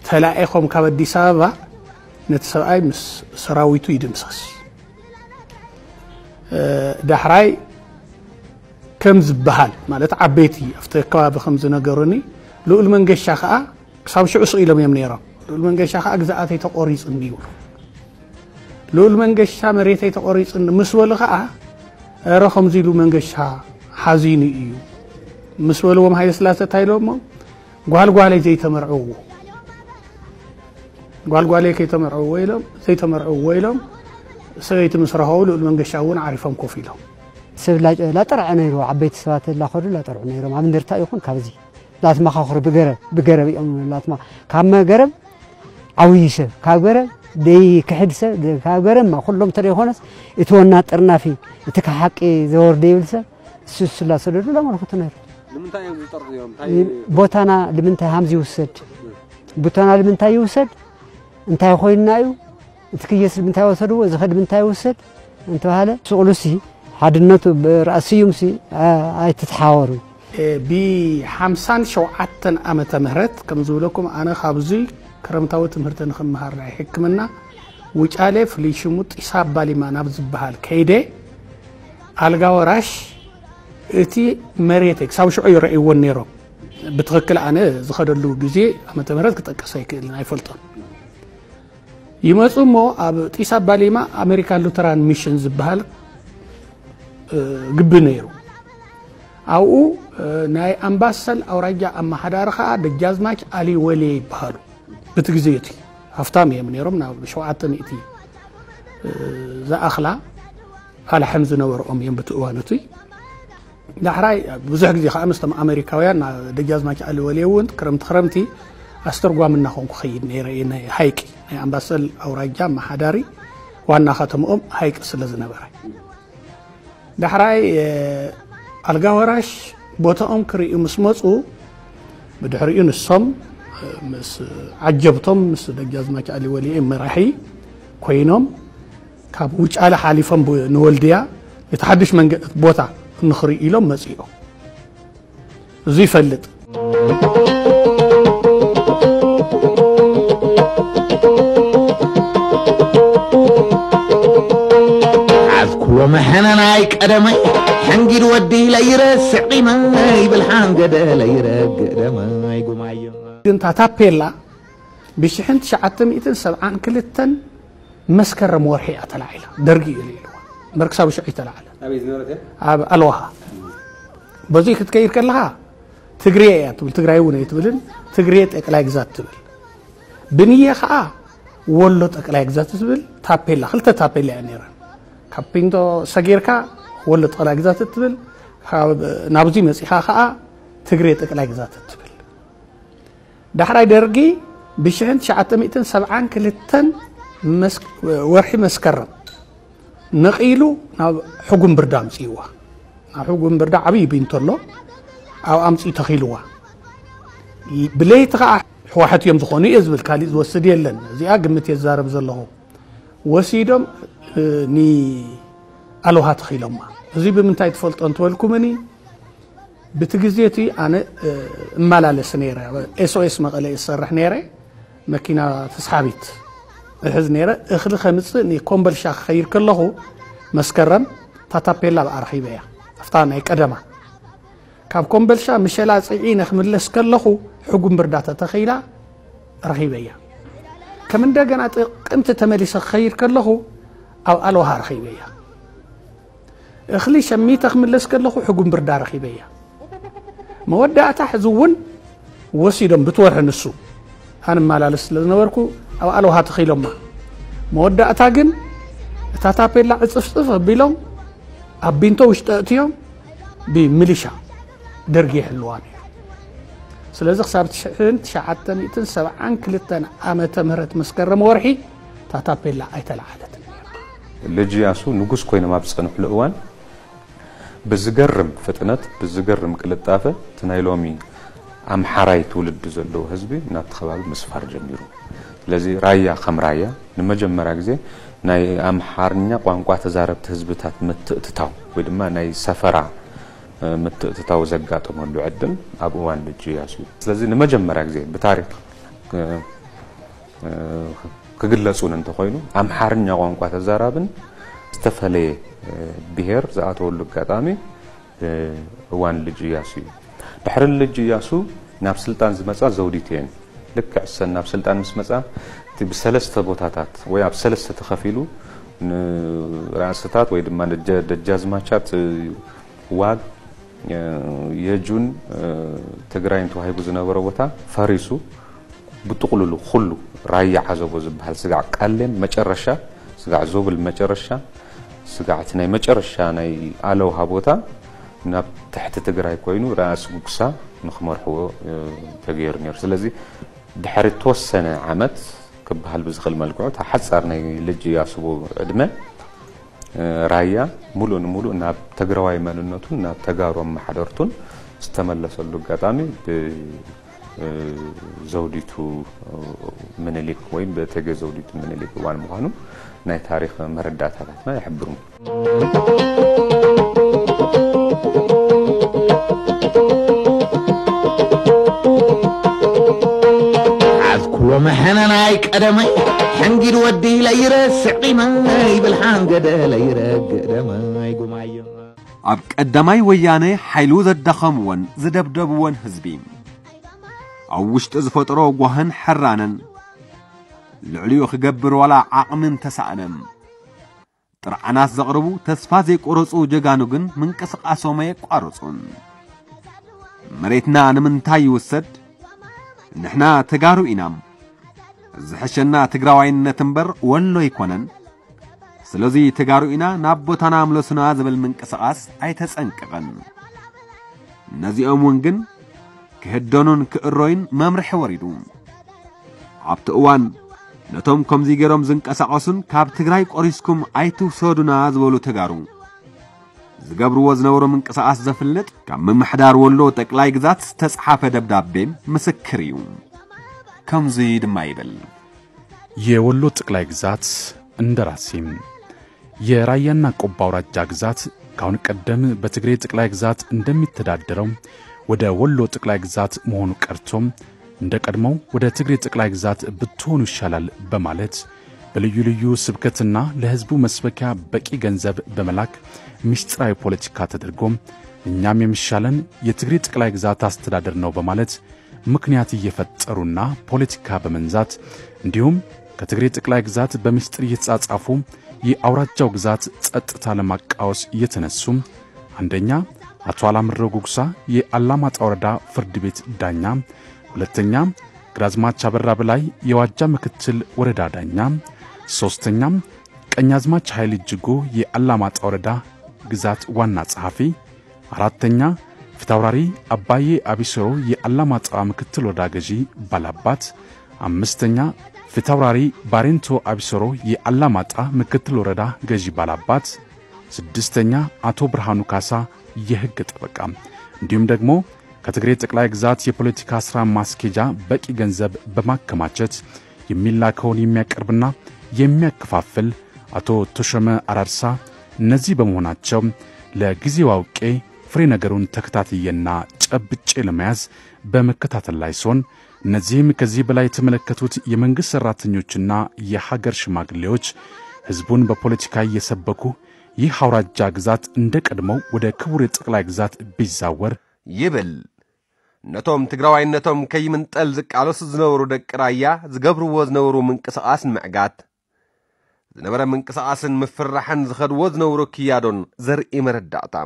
ተላኢኾም ካብ ኣዲስ ኣበባ ነቲ ሰብኣይ ምስ ሰራዊቱ ይድምሰስ። ዳሕራይ ከም ዝበሃል ማለት ዓበይቲ ኣብቲ ከባቢ ከም ዝነገሩኒ፣ ልኡል መንገሻ ከዓ ክሳብ ሽዑ ስቕ ኢሎም እዮም ነይሮም። ልኡል መንገሻ ከዓ ግዝኣተይ ተቆሪፁ እንዲ ይብሉ። ልኡል መንገሻ መሬተይ ተቆሪፁ ምስ በሉ ከዓ፣ ኧረ ከምዚ ኢሉ መንገሻ ሓዚኑ እዩ ምስ በልዎም፣ ሃይለ ስላሰ እንታይ ኢሎሞ? ጓልጓለይ ዘይተመርዕዎ፣ ጓልጓለይ ከይተመርዕዎ ኢሎም፣ ዘይተመርዕዎ ኢሎም፣ ሰበይቲ ምስ ረኸቡ ልኡል መንገሻ እውን ዓሪፎም ኮፍ ኢሎም። ሰብ ላ- ላጠርዐ ነይሩ፣ ዓበይቲ ሰባት ላኸዱ ላጠርዑ ነይሮም። ኣብ እንደርታ ይኹን ካብዚ ላትማኻኽሩ ብገረብ ብገረብ እዮም ላትማ ካብ መገረብ ዓብዪ ሰብ ካብ ገረብ ደይ ክሕድ ሰብ ካብ ገረብ ማ ኩሎም ተደይኮነስ እቲ ወና ጠርናፊ እቲ ከሓቂ ዘወርደ ይብል ሰብ እሱ እሱ ላሰደዱ ላመልክቱ ነይሩ። ንምንታይ እዮም ዝጠርዑ እዮም እንታይ ቦታና ንምንታይ ሃምዚ ይውሰድ? ቦታና ንምንታይ ይውሰድ? እንታይ ኮይንና እዩ? እቲ ክየስ ንምንታይ ወሰድዎ? እዚ ኸድ ምንታይ ይውሰድ? እንተባሃለ ስቕሉሲ ሓድነቱ ብራእሲ ስዩምሲ ኣይትትሓወሩ። ብሓምሳን ሸውዓተን ዓመተ ምህረት ከም ዝብለኩም ኣነ ካብዙይ ክረምታዊ ትምህርቲ ንክምሃር ናይ ሕክምና ውጫሌ ፍሉይ ሽሙ ጢሳ ባሊማ ናብ ዝበሃል ከይደ ኣልጋ ወራሽ እቲ መሬት ክሳብ ሽዑ ይረእይዎን ነይሮም። ብትኽክል ኣነ ዝኸደሉ ግዜ ዓመተ ምህረት ክጠቅስ ኣይክእልን ኣይፈልጦን። ይመፁ እሞ ኣብ ጢስ ኣባሊማ ኣሜሪካን ሉተራን ሚሽን ዝበሃል ግቢ ነይሩ። ኣብኡ ናይ ኣምባሰል ኣውራጃ ኣመሓዳሪ ከዓ ደጃዝማች ኣሊ ወሌ ይበሃሉ። ብቲ ግዜ እቲ ሃፍታም እዮም ነይሮም ናብ ሸውዓተ ሚእቲ ዝኣኽላ ኣላሕም ዝነበርኦም እዮም ብቲ እዋን እቱይ። ዳሕራይ ብዙሕ ግዜ ከዓ ምስቶም ኣሜሪካውያን ደጃዝማች ኣሊ ወሌ እውን ክረምቲ ክረምቲ ኣስተርጓሚ እናኾንኩ ኸይድ ነይረ እየ። ናይ ሃይቂ ናይ ኣምባሰል ኣውራጃ ኣመሓዳሪ ዋና ከተምኦም ሃይቂ ስለ ዝነበረ ዳሕራይ ኣልጋ ወራሽ ቦታኦም ክርእዩ ምስ መፁ ብድሕሪኡ ንሶም ምስ ዓጀብቶም ምስ ደጃዝማች ኣሊ ወሌ መራሒ ኮይኖም ካብ ውጫለ ሓሊፎም ንወልድያ እቲ ሓዱሽ መንገዲ ቦታ ንኽርኢ ኢሎም መፂኦም። እዚ ይፈልጥ። ዓዝኩዎ መሐነናይ ቀደመይ ሕንጊድ ወዲ ለይረስዕ ቂመይ ብልሓን ገደ ለይረግእ ደመይ ጉማዮ ግን እታ ታፔላ ብሽሕን ትሽዓተ ሚእትን ሰብዓን ክልተን መስከረም ወርሒ እያ ተላዒላ። ደርጊ እዩ ኢልዋ እምበር ክሳብ ሽዑ ይተላዓለ። ኣበይ ዝነበረት እያ? ኣብ ኣልዋሃ በዙይ ክትከይድ ከለኻ ትግሬ እያ ትብል፣ ትግራይ እውን ኣይትብልን። ትግሬ ጠቅላይ ግዛት ትብል። ብንየ ከዓ ወሎ ጠቅላይ ግዛት ትብል ታፔላ፣ ክልተ ታፔላ እያ ነይረን። ካብ ፒንቶ ሰጊርካ ወሎ ጠቅላይ ግዛት ትብል፣ ናብዚ መፂኻ ከዓ ትግሬ ጠቅላይ ግዛት ትብል። ዳሕራይ ደርጊ ብሽሕን ትሽዓተ ሚእትን ሰብዓን ክልተን ወርሒ መስከረም ነቒሉ ናብ ሕጉም ብርዳ ኣምፅእዋ። ናብ ሕጉም ብርዳ ዓብዪ ቢንቶ ኣሎ፣ ኣብ ኣምፅኡ ተኺልዋ። ብለይቲ ከዓ ሕዋሕት እዮም ዝኾኑ እየ ዝብል፣ ካሊእ ዝወስድ የለን። እዚኣ ግምት እየ ዝዛረብ ዘለኹ። ወሲዶም ንኣልውሃ ተኺሎማ። እዚ ብምንታይ ትፈልጦ እንትበልኩምኒ ብቲ ግዜ እቲ ኣነ እመላለስ ነይረ። ኤስኦኤስ መቐለ እሰርሕ ነይረ። መኪና ተስሓቢት እሕዝ ነይረ። እኽሊ ከምፅእ ንኮምበልሻ ክኸይድ ከለኹ መስከረም ታታፔላ ብኣ ረኺበያ። ኣብታ ናይ ቀደማ ካብ ኮምበልሻ ምሸላ ፅዒነ ክምለስ ከለኹ ሕጉም ብርዳ ተተኺላ ረኺበያ። ከም እንደገና ጥቅምቲ ተመሊሰ ክኸይድ ከለኹ ኣብ ኣልዋሃ ረኺበያ። እኽሊ ሸሚተ ክምለስ ከለኹ ሕጉም ብርዳ ረኺበያ። መወዳእታ ሕዚ እውን ወሲዶም ብትወርሒ ንሱ ኣንመላለስ ስለ ዝነበርኩ ኣብ ኣልውሃ ተኺሎማ። መወዳእታ ግን እታ ታፔላ ዕፅፍፅፍ ኣቢሎም ኣብ ቢንቶ ውሽጢ ኣእትዮም ብሚሊሻ ደርጊ ይሕልዋ ነይሩ። ስለዚ ክሳብ ትሽዓተ ሚእትን ሰብዓን ክልተን ዓመተ ምህረት መስከረም ወርሒ እታ ታፔላ ኣይተለዓለትን። ልጅ ያሱ ንጉስ ኮይኖም ኣብ ዝጸንሕሉ እዋን ብዝገርም ፍጥነት ብዝገርም ቅልጣፈ እቲ ናይ ሎሚ ኣምሓራይ ትውልዲ ዘለዎ ህዝቢ ናብቲ ከባቢ ምስፋር ጀሚሩ። ስለዚ ራያ ከም ራያ ንመጀመርያ ግዜ ናይ ኣምሓርኛ ቋንቋ ተዛረብቲ ህዝብታት ምትእትታው ወይ ድማ ናይ ሰፈራ ምትእትታው ዘጋጠመሉ ዕድል ኣብ እዋን ልጅ ያሱ እዩ። ስለዚ ንመጀመርያ ግዜ ብታሪክ ክግለጽ እውን እንተኾይኑ ኣምሓርኛ ቋንቋ ተዛራብን ዝተፈለየ ብሄር ዝኣተወሉ ኣጋጣሚ እዋን ልጅ እያሱ እዩ። ድሕሪ ልጅ እያሱ ናብ ስልጣን ዝመጻ ዘውዲት እየን። ልክዕ እሰን ናብ ስልጣን ምስ መጻ እቲ ብሰለስተ ቦታታት ወይ ኣብ ሰለስተ ተኸፊሉ ንራእስታት ወይ ድማ ደጃዝማቻት ዋግ የጁን ትግራይን ተዋሂቡ ዝነበረ ቦታ ፈሪሱ ብጥቕሉሉ ኩሉ ራያ ዓዘቦ ዝበሃል ስጋዕ ቃሌም መጨረሻ ስጋዕ ዞብል መጨረሻ ስጋዕ እቲ ናይ መጨረሻ ናይ ኣለውሃ ቦታ ናብ ትሕቲ ትግራይ ኮይኑ ራእሲ ጉግሳ ንክመርሕዎ ተገይሩ ነይሩ። ስለዚ ድሕሪ ተወሰነ ዓመት ክበሃል ብዝኽእል መልክዑ እታ ሓፃር ናይ ልጅ ያስቦ ዕድመ ራያ ሙሉእ ንሙሉእ ናብ ትግራዋይ መንነቱን ናብ ተጋሩ ኣመሓደርቱን ዝተመለሰሉ ኣጋጣሚ ብዘውዲቱ ምኒልክ ወይም ብእቴጌ ዘውዲቱ ምኒልክ እዋን ምዃኑ ናይ ታሪኽ መረዳእታታትና ይሕብሩ። ዓዝኩሎ መሐነናይ ቀደመይ ሕንጊድ ወዲ ለይረስዕ ቂመይ ብልሓን ገደ ለይረግእ ደመይ ጉማዮ። ኣብ ቀዳማይ ወያነ ሓይሉ ዘዳኸምዎን ዝደብደብዎን ህዝቢ ኣብ ውሽጢ ዝፈጠሮ ጓህን ሕራነን ልዕሊኡ ክገብር ዋላ ዓቕሚ እንተሰኣነ ጥርዓናት ዘቕርቡ ተስፋ ዘይቆረጹ ጀጋኑ ግን ምንቅስቃሶም ኣየቋረጹን። መሬትና ንምንታይ ይውሰድ? ንሕና ተጋሩ ኢና። ዝሕሸና ትግራዋይነት እምበር ወሎ ኣይኮነን። ስለዚ ተጋሩ ኢና ናብ ቦታና ምለሱና ዝብል ምንቅስቃስ ኣይተጸንቀቐን። ነዚኦም እውን ግን ክህደኑን ክእሮይን መምርሒ ወሪዱ። ኣብቲ እዋን ነቶም ከምዚ ገይሮም ዝንቀሳቐሱን ካብ ትግራይ ቆሪስኩም ኣይትውሰዱና ዝበሉ ተጋሩ ዝገብርዎ ዝነበሩ ምንቅስቃስ ዘፍልጥ ካብ ምምሕዳር ወሎ ጠቅላይ ግዛት ዝተፅሓፈ ደብዳቤ ምስክር እዩ። ከምዚ ድማ ይብል። የወሎ ጠቅላይ ግዛት እንደራሴ የራያና ቆቦ አውራጃ ግዛት ካሁን ቀደም በትግሬ ጠቅላይ ግዛት እንደሚተዳደረው ወደ ወሎ ጠቅላይ ግዛት መሆኑ ቀርቶ እንደ ቀድሞው ወደ ትግሬ ጠቅላይ ግዛት ብትሆኑ ይሻላል በማለት በልዩ ልዩ ስብከትና ለህዝቡ መስበኪያ በቂ ገንዘብ በመላክ ምስጢራዊ ፖለቲካ ተደርጎ እኛም የሚሻለን የትግሬ ጠቅላይ ግዛት አስተዳደር ነው በማለት ምክንያት እየፈጠሩና ፖለቲካ በመንዛት እንዲሁም ከትግሬ ጠቅላይ ግዛት በምስጢር እየተጻጻፉ የአውራጃው ግዛት ጸጥታ ለማቃወስ እየተነሱ አንደኛ አቶ አላምረው ጉግሳ የአላማጣ ወረዳ ፍርድ ቤት ዳኛ፣ ሁለተኛ ግራዝማች አበራ በላይ የዋጃ ምክትል ወረዳ ዳኛ፣ ሶስተኛ ቀኛዝማች ኃይል እጅጉ የአላማጣ ወረዳ ግዛት ዋና ጸሐፊ፣ አራተኛ ፊታውራሪ አባዬ አቢሰሮ የአላማጣ ምክትል ወረዳ ገዢ ባላባት፣ አምስተኛ ፊታውራሪ ባሬንቶ አቢሰሮ የአላማጣ ምክትል ወረዳ ገዢ ባላባት፣ ስድስተኛ አቶ ብርሃኑ ካሳ የህግ ጠበቃ እንዲሁም ደግሞ ከትግሬ ጠቅላይ ግዛት የፖለቲካ ስራ ማስኬጃ በቂ ገንዘብ በማከማቸት የሚላከውን የሚያቀርብና የሚያከፋፍል አቶ ተሾመ አራርሳ እነዚህ በመሆናቸው ለጊዜው አውቄ ፍሬ ነገሩን ተከታትዬና ጨብጬ ለመያዝ በመከታተል ላይ ስሆን እነዚህም ከዚህ በላይ የተመለከቱት የመንግስት ሰራተኞችና የሀገር ሽማግሌዎች ህዝቡን በፖለቲካ እየሰበኩ ይህ አውራጃ ግዛት እንደ ቀድሞው ወደ ክቡር የጠቅላይ ግዛት ቢዛወር ይብል። ነቶም ትግራዋይነቶም ከይምንጠል ዝቃለሱ ዝነበሩ ደቂ ራያ ዝገብርዎ ዝነበሩ ምንቅስቃስ ንምዕጋት ዝነበረ ምንቅስቃስን ምፍርራሕን ዝኸድዎ ዝነበሩ ክያዶን ዘርኢ መረዳእታ።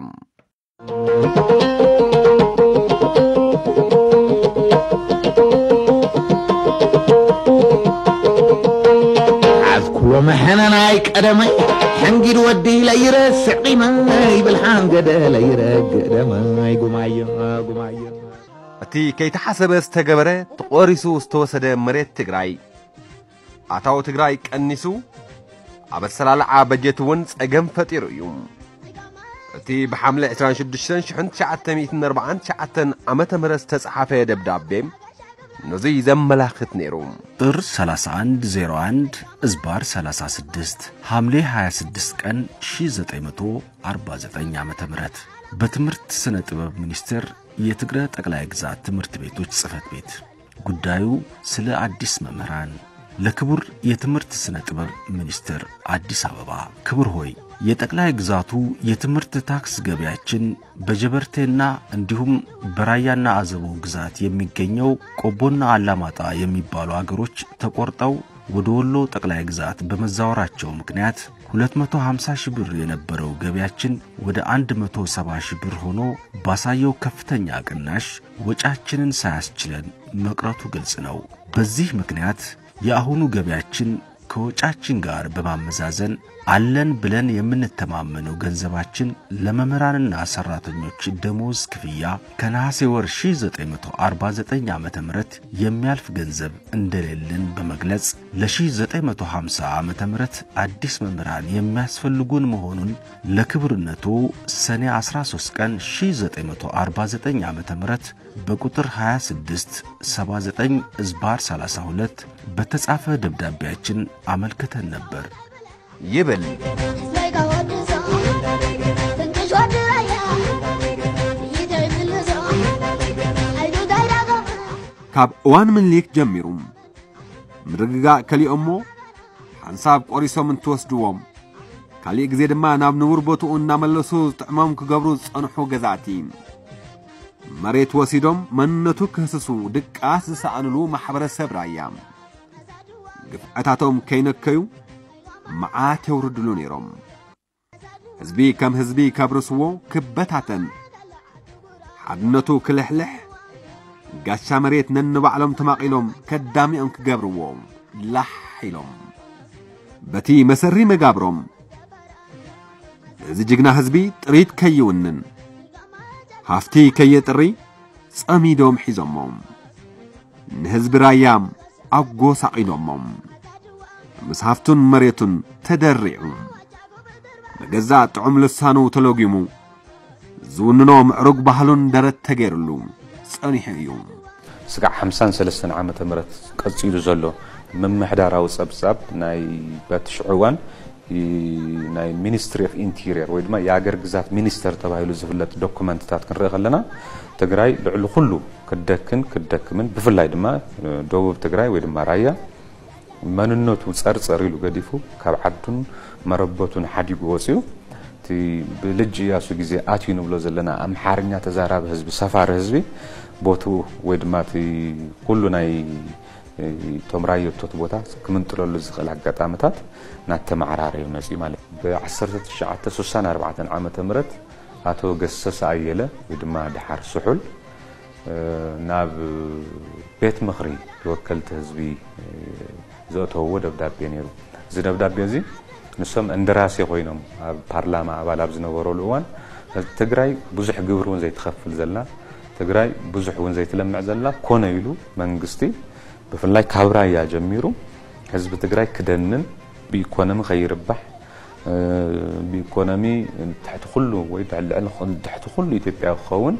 ዓዝኩሎ መሐነናይ ቀደመይ ሕንጊድ ወዲ ለይረስዕ ቂመይ ብልሓን ገደ ለይረግእ ደመይ ጉማዮ ጉማዮ። እቲ ከይተሓሰበ ዝተገበረ ተቖሪሱ ዝተወሰደ መሬት ትግራይ ኣታዊ ትግራይ ቀኒሱ ኣብ ኣሰላልዓ በጀት እውን ጸገም ፈጢሩ እዩ። እቲ ብሓምለ ዕስራን ሽዱሽተን ሽሕን ትሽዓተ ሚእትን ኣርባዓን ትሽዓተን ዓመተ ምህረት ዝተጸሓፈ ደብዳቤ ነዙይ ዘመላኽት ነይሩ። ጥር ሰላሳ አንድ ዜሮ አንድ እዝባር ሰላሳ ስድስት ሐምሌ ሃያ ስድስት ቀን ሺህ ዘጠኝ መቶ አርባ ዘጠኝ ዓመተ ምህረት በትምህርት ስነ ጥበብ ሚኒስቴር የትግረ ጠቅላይ ግዛት ትምህርት ቤቶች ጽህፈት ቤት ጉዳዩ ስለ አዲስ መምህራን ለክቡር የትምህርት ስነ ጥበብ ሚኒስትር አዲስ አበባ። ክቡር ሆይ፣ የጠቅላይ ግዛቱ የትምህርት ታክስ ገቢያችን በጀበርቴና እንዲሁም በራያና አዘቦ ግዛት የሚገኘው ቆቦና አላማጣ የሚባሉ አገሮች ተቆርጠው ወደ ወሎ ጠቅላይ ግዛት በመዛወራቸው ምክንያት ሁለት መቶ ሃምሳ ሺህ ብር የነበረው ገቢያችን ወደ አንድ መቶ ሰባ ሺህ ብር ሆኖ ባሳየው ከፍተኛ ቅናሽ ወጫችንን ሳያስችለን መቅረቱ ግልጽ ነው። በዚህ ምክንያት የአሁኑ ገቢያችን ከወጫችን ጋር በማመዛዘን አለን ብለን የምንተማመነው ገንዘባችን ለመምህራንና ሰራተኞች ደሞዝ ክፍያ ከነሐሴ ወር ሺህ ዘጠኝ መቶ አርባ ዘጠኝ ዓመተ ምህረት የሚያልፍ ገንዘብ እንደሌለን በመግለጽ ለ ሺህ ዘጠኝ መቶ ሃምሳ ዓመተ ምህረት አዲስ መምህራን የሚያስፈልጉን መሆኑን ለክብርነቱ ሰኔ አስራ ሶስት ቀን ሺህ ዘጠኝ መቶ አርባ ዘጠኝ ዓመተ ምህረት በቁጥር ሃያ ስድስት ሰባ ዘጠኝ እዝባር ሠላሳ ሁለት በተጻፈ ደብዳቤያችን አመልክተን ነበር። ይብል። ካብ እዋን ምኒልክ ጀሚሩ ምርግጋእ ከሊኦሞ ሓንሳብ ቆሪሶም እንትወስድዎም፣ ካሊእ ግዜ ድማ ናብ ንቡር ቦትኡ እናመለሱ ዝጥዕሞም ክገብሩ ዝጸንሑ ገዛእቲ፣ መሬት ወሲዶም መንነቱ ክህስሱ ድቃስ ዝሰኣንሉ ማሕበረሰብ ራያ፣ ግፍዕታቶም ከይነከዩ መዓት የውርድሉ ነይሮም። ህዝቢ ከም ህዝቢ ከብርስዎ ክበታተን፣ ሓድነቱ ክልሕልሕ፣ ጋሻ መሬት ነንባዕሎም ተማቒሎም ከዳሚኦም ክገብርዎ ላሕ ኢሎም። በቲ መሰሪ መጋብሮም እዚ ጅግና ህዝቢ ጥሪት ከይውንን፣ ሃፍቲ ከየጥሪ ጸሚዶም ሒዞሞ። ንህዝቢ ራያ ኣጎሳቒሎሞ። ምስ ሃፍቱን መሬቱን ተደሪዑ፣ ብገዛእ ጥዑም ልሳኑ ተሎጊሙ፣ ዝውንኖ ምዕሩግ ባህሉን ደረት ተገይሩሉ ጸኒሑ እዩ። ስጋዕ ሓምሳን ሰለስተን ዓመተ ምህረት ቀጺሉ ዘሎ ምምሕዳራዊ ጸብጻብ ናይ በቲ ሽዑ እዋን ይ-፣ ናይ ሚኒስትሪ ኦፍ ኢንቴሪየር ወይ ድማ የኣገር ግዛት ሚኒስተር ተባሂሉ ዝፍለጥ ዶኩመንትታት ክንርኢ ከለና፣ ትግራይ ልዕሊ ኩሉ ክትደክን ክትደክምን፣ ብፍላይ ድማ፣ እ፣ ደቡብ ትግራይ ወይ ድማ ራያ መንነቱ ጸርጸር ኢሉ ገዲፉ፣ ካብ ዓዱን መረበቱን ሓዲጉ ወጺኡ፣ እቲ ብልጅ እያሱ ግዜ ኣትዩ ንብሎ ዘለና ኣምሓርኛ ተዛራቢ ህዝቢ፣ ሰፋሪ ህዝቢ፣ ቦትኡ ወይ ድማ እቲ ኩሉ ናይ፣ እ፣ እቶም ራየቶት ቦታ ክምንጥለሉ ዝኽእል ኣጋጣምታት እናተመዓራረዩ መጺኡ ማለት እዩ። ብ1964 ዓመተ ምህረት ኣቶ ገሰሰ ኣየለ ወይ ድማ ደሓር ስሑል፣ እ፣ ናብ ቤት ምኽሪ ተወከልቲ ህዝቢ፣ እ፣ ዘእተውዎ ደብዳቤ ነይሩ። እዚ ደብዳቤ እዚ ንሶም እንደራሴ ኮይኖም ኣብ ፓርላማ ኣባል ኣብ ዝነበረሉ እዋን፣ ትግራይ ብዙሕ ግብሪ እውን ዘይትኸፍል ዘላ፣ ትግራይ ብዙሕ እውን ዘይትለምዕ ዘላ፣ ኮነ ኢሉ መንግስቲ ብፍላይ ካብ ራያ ጀሚሩ ህዝቢ ትግራይ ክደንን ብኢኮኖሚ ከይርባሕ፣ እ፣ ብኢኮኖሚ ትሕቲ ኩሉ ወይ ልዕሊ፣ ትሕቲ ኩሉ ኢትዮጵያ ክኸውን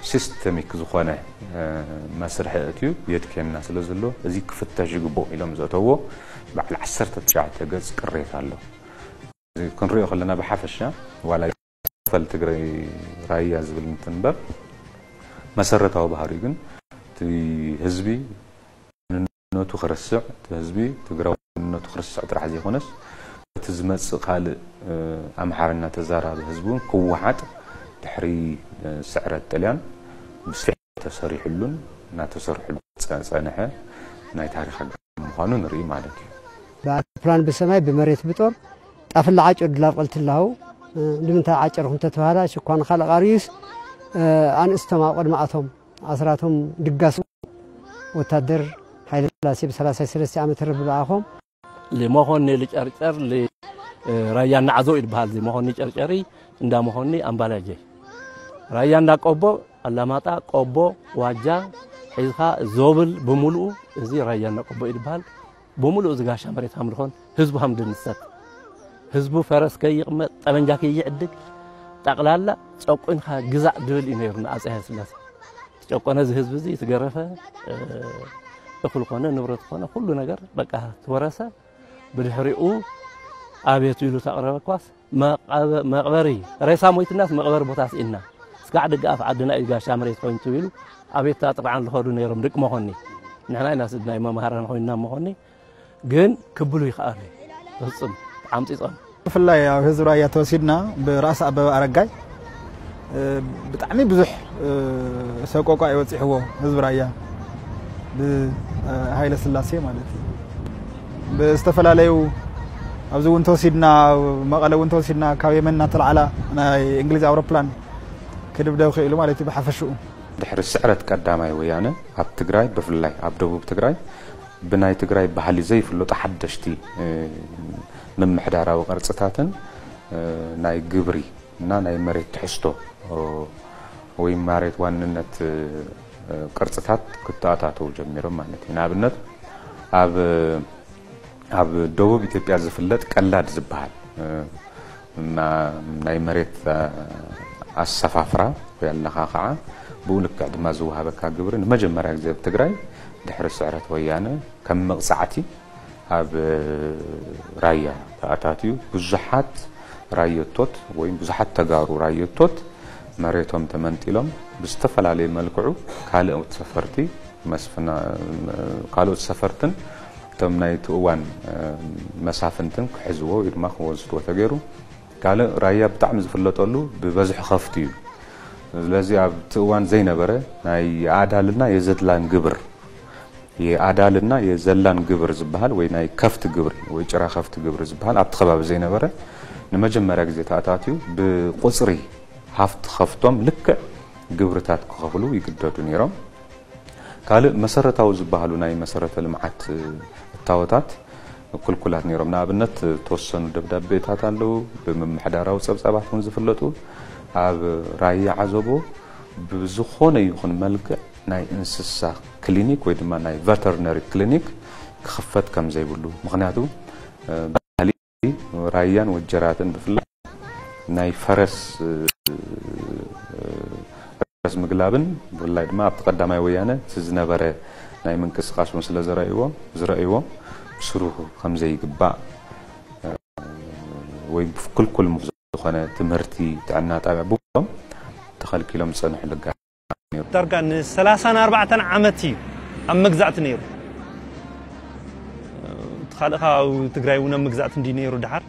ሲስተሚክ ዝኾነ፣ እ፣ መስርሒ ኣእትዩ የድክየና ስለ ዘሎ፣ እዚ ክፍተሽ ይግብኦ ኢሎም ዘእተዎ በዓል ዓሰርተ ትሽዓተ ገጽ ቅሬታ ኣሎ። እዚ ክንሪኦ ከለና ብሓፈሻ ዋላ ይክፈል ትግራይ ራያ ዝብል እንትን እምበር፣ መሰረታዊ ባህሪኡ ግን እቲ ህዝቢ መንነቱ ክርስዕ፣ እቲ ህዝቢ ትግራዊ መንነቱ ክርስዕ ጥራሕ ዘይኮነስ፣ እቲ ዝመጽእ ካልእ፣ እ፣ ኣምሓርኛ ተዛራቢ ህዝቢ እውን ክወሓጥ ድሕሪ፣ እ፣ ስዕረት ጥልያን ብስፊሕ ተሰሪሕሉን እናተሰርሕሉ ጸ-፣ ጸንሐ ናይ ታሪኽ ኣጋጣሚ ምዃኑ ንርኢ ማለት እዩ። ብኣውሮፕላን ብሰማይ ብመሬት ብጦር ጣፍላ ዓጨዱ ላብ ቀልትላው፣ እ፣ ንምንታይ ዓጨርኩም ተተባህላ ሽኳ ንኻልእ ቃርዩስ፣ እ፣ ኣንእስቶም ኣብ ቅድማኣቶም ኣስራቶም ድጋስ ወታደር ሃይለ ስላሴ ብ33 ዓመተ ምህረት ብልኣኾም። ሊ መኾኒ ልጨርጨር ሊ ራያ ናዕዞ ይበሃል። እዚ መኾኒ ጨርጨሪ እንዳ መኾኒ ኣምባላጀ ራያ እንዳ ቆቦ ኣላማጣ ቆቦ ዋጃ ሒዝኻ ዞብል ብምሉኡ እዚ ራያ እንዳ ቆቦ ይበሃል። ብምሉኡ እዚ ጋሻ መሬት ሃም ዝኾን ህዝቡ ሃም ድንሰት ህዝቡ ፈረስ ከይቕመጥ ጠበንጃ ከይዕድግ ጠቕላላ ጨቁንካ ግዛእ ድብል እዩ ነይሩ ንኣጼ ሃይለ ስላሴ። ተጨቆነ እዚ ህዝቢ እዚ ትገረፈ እኽል ኮነ ንብረት ኮነ ኩሉ ነገር በቃ ትወረሰ። ብድሕሪኡ ኣቤቱ ኢሉ ተቕረበ ኳስ መቐበ-፣ መቕበሪ ሬሳ ሞይትናስ መቕበሪ ቦታ ስኢንና። ስጋዕ ደገኣፍ ዓድና እዩ ጋሻ መሬት ኮይኑ ተቢሉ ኣቤቱታ ጥርዓን ዝኸዱ ነይሮም ደቂ መኾኒ። ንሕና ኢና ስድናይ መምሃራን ኮይንና መኾኒ። ግን ክብሉ ይኽኣሉ እዩ። ብፍጹም ተዓምጺጾም። ብፍላይ ኣብ ህዝቢ ራያ ተወሲድና ብራእሲ ኣበበ ኣረጋይ ብጣዕሚ ብዙሕ ሰቆቋ የበፂሕዎ ህዝቢ ራያ ብሃይለ ስላሴ ማለት እዩ። ብዝተፈላለዩ ኣብዚ እውን ተወሲድና መቐለ እውን ተወሲድና ካብ የመን እናተላዕላ ናይ እንግሊዝ ኣውሮፕላን ክድብደብ ክኢሉ ማለት እዩ ብሓፈሽኡ። ድሕሪ ስዕረት ቀዳማይ ወያነ ኣብ ትግራይ ብፍላይ ኣብ ደቡብ ትግራይ ብናይ ትግራይ ባህሊ ዘይፍለጡ ሓደሽቲ ምምሕዳራዊ ቅርፅታትን ናይ ግብሪ እና ናይ መሬት ትሕዝቶ ወይ መሬት ዋንነት ቅርፅታት ክተኣታተው ጀሚሮም ማለት እዩ። ንኣብነት ኣብ ኣብ ደቡብ ኢትዮጵያ ዝፍለጥ ቀላድ ዝበሃል ናይ መሬት ኣሰፋፍራ ወይ ኣለኻኽዓ ብኡ ልክዕ ድማ ዝወሃበካ ግብሪ ንመጀመርያ ግዜ ኣብ ትግራይ ድሕሪ ስዕረት ወያነ ከም መቕፃዕቲ ኣብ ራያ ተኣታትዩ ብዙሓት ራየቶት ወይ ብዙሓት ተጋሩ ራየቶት መሬቶም ተመንጢሎም ብዝተፈላለየ መልክዑ ካልኦት ሰፈርቲ መስፍና ካልኦት ሰፈርትን እቶም ናይቲ እዋን መሳፍንትን ክሕዝዎ ወይ ድማ ክወስድዎ ተገይሩ። ካልእ ራያ ብጣዕሚ ዝፍለጠሉ ብበዝሒ ከፍቲ እዩ። ስለዚ ኣብቲ እዋን ዘይነበረ ናይ የኣዳልና የዘድላን ግብር የኣዳልና የዘላን ግብር ዝበሃል ወይ ናይ ከፍቲ ግብሪ ወይ ጭራ ከፍቲ ግብሪ ዝበሃል ኣብቲ ከባቢ ዘይነበረ ንመጀመርያ ግዜ ተኣታትዩ ብቁፅሪ ሃፍቲ ከፍቶም ልክዕ ግብርታት ክኸፍሉ ይግደዱ ነይሮም። ካልእ መሰረታዊ ዝበሃሉ ናይ መሰረተ ልምዓት እታወታት ክልኩላት ነይሮም። ንኣብነት ተወሰኑ ደብዳቤታት ኣለዉ፣ ብምምሕዳራዊ ጸብጻባት እውን ዝፍለጡ ኣብ ራያ ዓዘቦ ብዝኾነ ይኹን መልክዕ ናይ እንስሳ ክሊኒክ ወይ ድማ ናይ ቨተርነሪ ክሊኒክ ክኽፈት ከም ዘይብሉ ምኽንያቱ ባህሊ ራያን ወጀራትን ብፍላይ ናይ ፈረስ ፈረስ ምግላብን ብፍላይ ድማ ኣብቲ ቀዳማይ ወያነ እቲ ዝነበረ ናይ ምንቅስቃስ እውን ስለ ዘረእዎ ዝረእዎ ብስሩ ከም ዘይግባእ ወይ ክልኩል ዝኾነ ትምህርቲ ጥዕና ጣብያ ብሎም ተኸልኪሎም ዝፀንሑ ልጋ ዳርጋ ን34 ዓመት እዩ ኣብ መግዛእቲ ነይሩ። እቲ ካልእ ካብ ትግራይ እውን ኣብ መግዛእቲ እንዲ ነይሩ ድሓር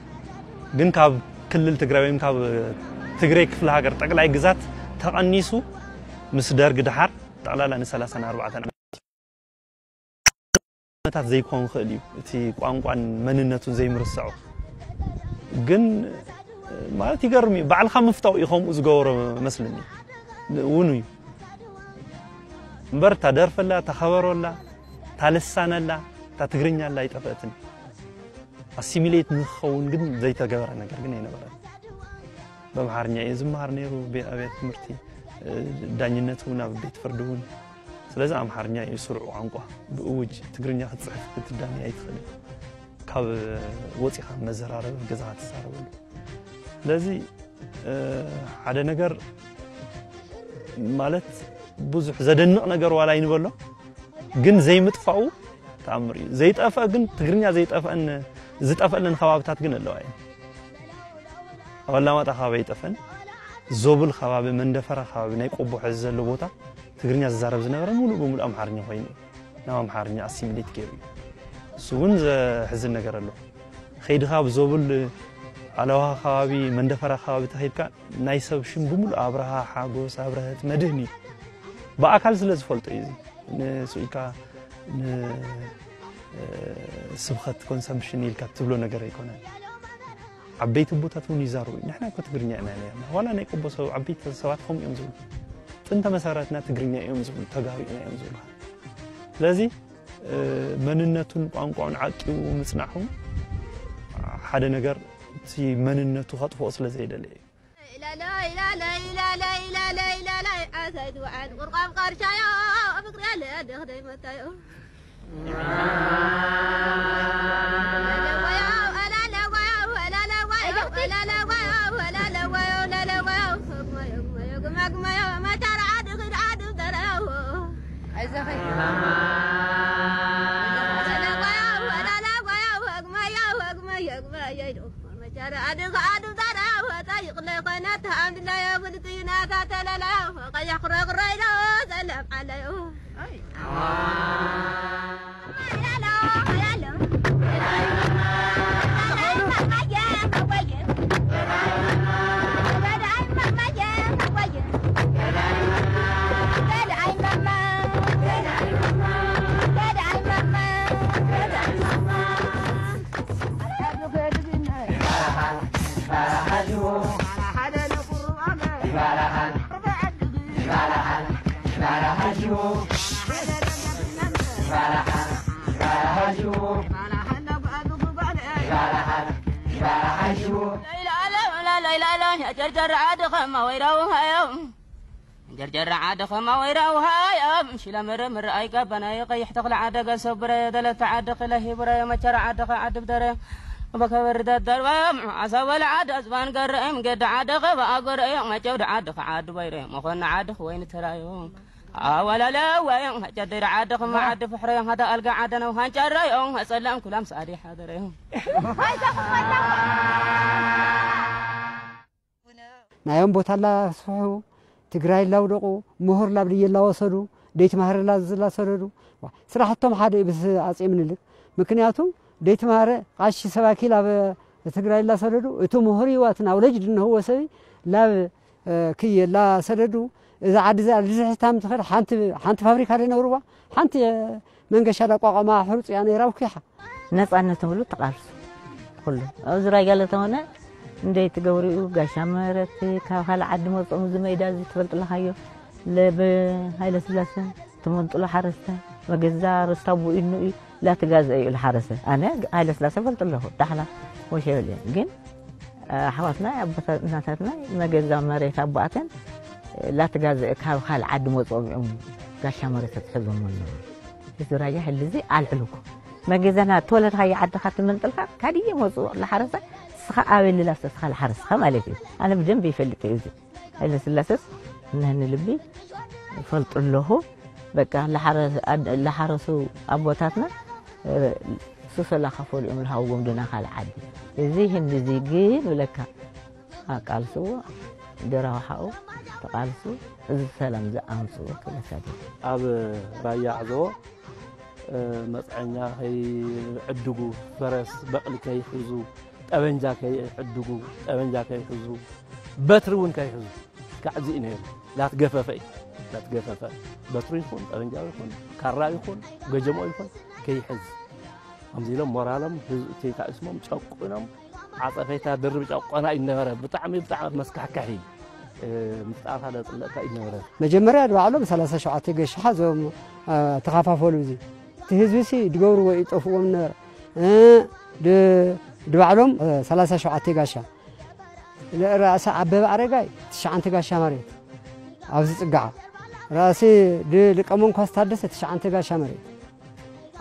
ግን ካብ ክልል ትግራይ ወይም ካብ ትግራይ ክፍለ ሃገር ጠቅላይ ግዛት ተቐኒሱ ምስ ደርግ ድሓር ጠቕላላ ን34 ዓመታት ዓመታት ዘይኮን ክእል እዩ እቲ ቋንቋን መንነቱን ዘይምርሰዑ ግን ማለት ይገርም እዩ። ባዕልካ ምፍታው እዩ ከምኡ ዝገበሮ መስልኒ እውን እዩ እምበር እታ ደርፈላ እታ ከበሮላ እታ ልሳነላ እታ ትግርኛላ ኣይጠፈእትን። ኣሲሚሌት ንክኸውን ግን ዘይተገበረ ነገር ግን ኣይነበረን። በምሓርኛ እዩ ዝመሃር ነይሩ ቤ- ኣብያተ ትምህርቲ እ፣ ዳኝነት እውን ኣብ ቤት ፍርዲ እውን። ስለዚ ኣምሓርኛ እዩ ስሩዕ ቋንቋ። ብእውጅ ትግርኛ ክትፅሕፍ ክትዳኒ ኣይትኽእልን። ካብ ወፂኻ መዘራረቢ ገዛኻ ትዛረበሉ። ስለዚ እ፣ ሓደ ነገር ማለት ብዙሕ ዘደንቕ ነገር ዋላ ይንበሎ ግን ዘይምጥፋኡ ተኣምር እዩ። ዘይጠፍአ ግን ትግርኛ ዘይጠፍአን ዝጠፍአለን ከባብታት ግን ኣለዋ እየን። ኣብ ኣላማጣ ከባቢ ኣይጠፍአን። ዞብል ከባቢ መንደፈራ ከባቢ ናይ ቆቦ ሕዚ ዘሎ ቦታ ትግርኛ ዝዛረብ ዝነበረ ሙሉእ ብሙሉእ ኣምሓርኛ ኮይኑ እዩ። ናብ ኣምሓርኛ ኣሲሚሌት ገይሩ እዩ። እሱ እውን ዘሕዝን ነገር ኣሎ። ከይድኻ ኣብ ዞብል ኣለዋኻ ከባቢ መንደፈራ ከባቢ ተኸይድካ ናይ ሰብ ሽም ብምሉእ ኣብርሃ ሓጎስ ኣብርሀት መድህን እዩ። ብኣካል ስለ ዝፈልጦ እዩ እዚ ንሱ ኢልካ ን ስብኸት ኮንሰምፕሽን ኢልካ ትብሎ ነገር ኣይኮነን። ዓበይቲ ኣቦታት እውን ይዛረቡ እዩ። ንሕና እኮ ትግርኛ ኢና ነርና። ዋላ ናይ ቆቦ ሰብ ዓበይቲ ሰባት ከምኡ እዮም ዝብሉ። ጥንተ መሰረትና ትግርኛ እዮም ዝብሉ፣ ተጋሩ ኢና እዮም ዝብሉ። ስለዚ መንነቱን ቋንቋኡን ዓቂቡ ምጽናሑ ሓደ ነገር እቲ መንነቱ ከጥፍኦ ስለ ዘይደለ እዩ። ጀርጀር ዓዲ ኸማ ወይራ ውሃዮም፣ ጀርጀር ዓዲ ኸማ ወይራ ውሃዮም፣ ሽለ ምርምር ኣይጋባናይ፣ ቀይሕ ተኽለ ዓደ ገሰው ብረዮ፣ ደለታ ዓዲ ክለ ሂብረዮ፣ መቸራ ዓዲ ኸ ዓዲ ብደረዮ፣ በከበሪ ደደርባዮም፣ ዓሳወል ዓዲ ኣዝባን ገረዮም፣ ገዲ ዓዲ ኸ በኣጎረዮ፣ መጨውዲ ዓዲ ኸ ዓዲ በይረዮ፣ መኾኒ ዓዲ ኸ ወይኒ ተራዮ፣ ኣወለለወዮ፣ ጨድሪ ዓዲ ኸማ ዓዲ ፍሕረዮ፣ ሃዳ ኣልጋ ዓደ ነው ሃንጨረዮ፣ ጸላም ኩላም ሰኣዲ ሓደረዮ። ናዮም ቦታ ላስፍሑ፣ ትግራይ ላውደቑ፣ ምሁር ላብ ድየ ላወሰዱ፣ ደይትማህረ ላዝ ላሰደዱ። ዋ፣ ስራሕቶም ሓደ እዩ ምስ ኣጼ ምኒልክ። ምክንያቱ ደይትማህረ ቃሺ ሰባኪ ላብ ትግራይ ላሰደዱ፣ እቲ ምሁር እዩ፣ እቲ ናውለጅ ድንህዎ ሰብ ላብ፣ እ፣ ክየ ላሰደዱ። እዛ ዓዲ እዚኣ ልዝሕታም ትኽእል ሓንቲ፣ ሓንቲ ፋብሪካ ደይነብርዋ፣ ሓንቲ መንገሻ ዳቋቋማ ሕሩፅ እያ ነይራ፣ ውኪሓ። ነጻነት ንብሉ ተቓልሱ ኩሉ ኣብዚ ራያ ለተሆነ እንደይ ትገብሪኡ ጋሻ መረት ካብ ካልእ ዓዲ መጾም እዚ መይዳ እዚ ትፈልጥ ኣለኻዮ ለብ ሃይለ ስላሰ ትመንጥሎ ሓረስተ መገዛ ርስታ ቡኢኑ እዩ ላትጋዘ እዩ ለሓረሰ ኣነ ሃይለ ስላሰ ፈልጥ ኣለኹ ዳሕላ ወሸብል እየ ግን ኣሕዋትና ኣቦታት እናታትና መገዛ መሬት ኣቦኣተን ላትጋዘ ካብ ካልእ ዓዲ መጾም እዮም ጋሻ መረት ተትሕዞም ኣለዉ እዚ ራያ ሕልዚ ኣልዕልኩ መገዛና ተወለድካዮ ዓድኻ ትመንጥልካ ካድየ መፅኡ ለሓረሰ ስኻ ኣበይ ልላሰ ስኻ ለሓረስኻ ማለት እዩ ኣነ ብደንብ ይፈልጥ እዩ እዚ ሃይለ ስላሰስ እነህኒ ልቢ ይፈልጡ ኣለኹ በቃ ለሓረሱ ኣቦታትና ሱሰላ ከፈሉ እዮም ለሃውጎም ድና ካልእ ዓዲ እዚ ህንዲ እዚ ግን ብለካ ኣቃልስዎ ድራውሓኡ ተቃልሱ እዚ ሰላም ዝኣምፅዎ ክብለካ ደ ኣብ ራያ ዓዘቦ መፅዐኛ ከይዕድጉ፣ ፈረስ በቕሊ ከይሕዙ፣ ጠበንጃ ከይዕድጉ፣ ጠበንጃ ከይሕዙ፣ በትሪ እውን ከይሕዙ፣ እስካዕ እዚ እዩ ነይሩ። ላትገፈፈ እዩ። ላትገፈፈ በትሩ ይኹን፣ ጠበንጃ ይኹን፣ ካራ ይኹን፣ ገጀሞ ይኹን ከይሕዝ ከምዚ ኢሎም ሞራሎም ህዝቢ ተይታኢስሞም ጨቁኖም ዓፀፈይታ ድርብ ጨቆና እዩ ነበረ። ብጣዕሚ ብጣዕሚ መስካሕካሒ ምፍጣርካ ደፅለእካ እዩ ነበረ። መጀመርያ ድባዕሎም ሰላሳ ሸውዓተ ገሽሓ እዞም ተኻፋፈሉ እዚ እቲ ህዝቢ ሲ ድገብርዎ እዩ ጠፍዎም ነበረ ድባዕሎም ሰላሳ ሸውዓተ ጋሻ ርእሰ ኣበበ ኣረጋይ ትሽዓንተ ጋሻ መሬት ኣብዚ ፅጋዓ ርእሲ ድሊቀ መንኳስ ታደሰ ትሽዓንተ ጋሻ መሬት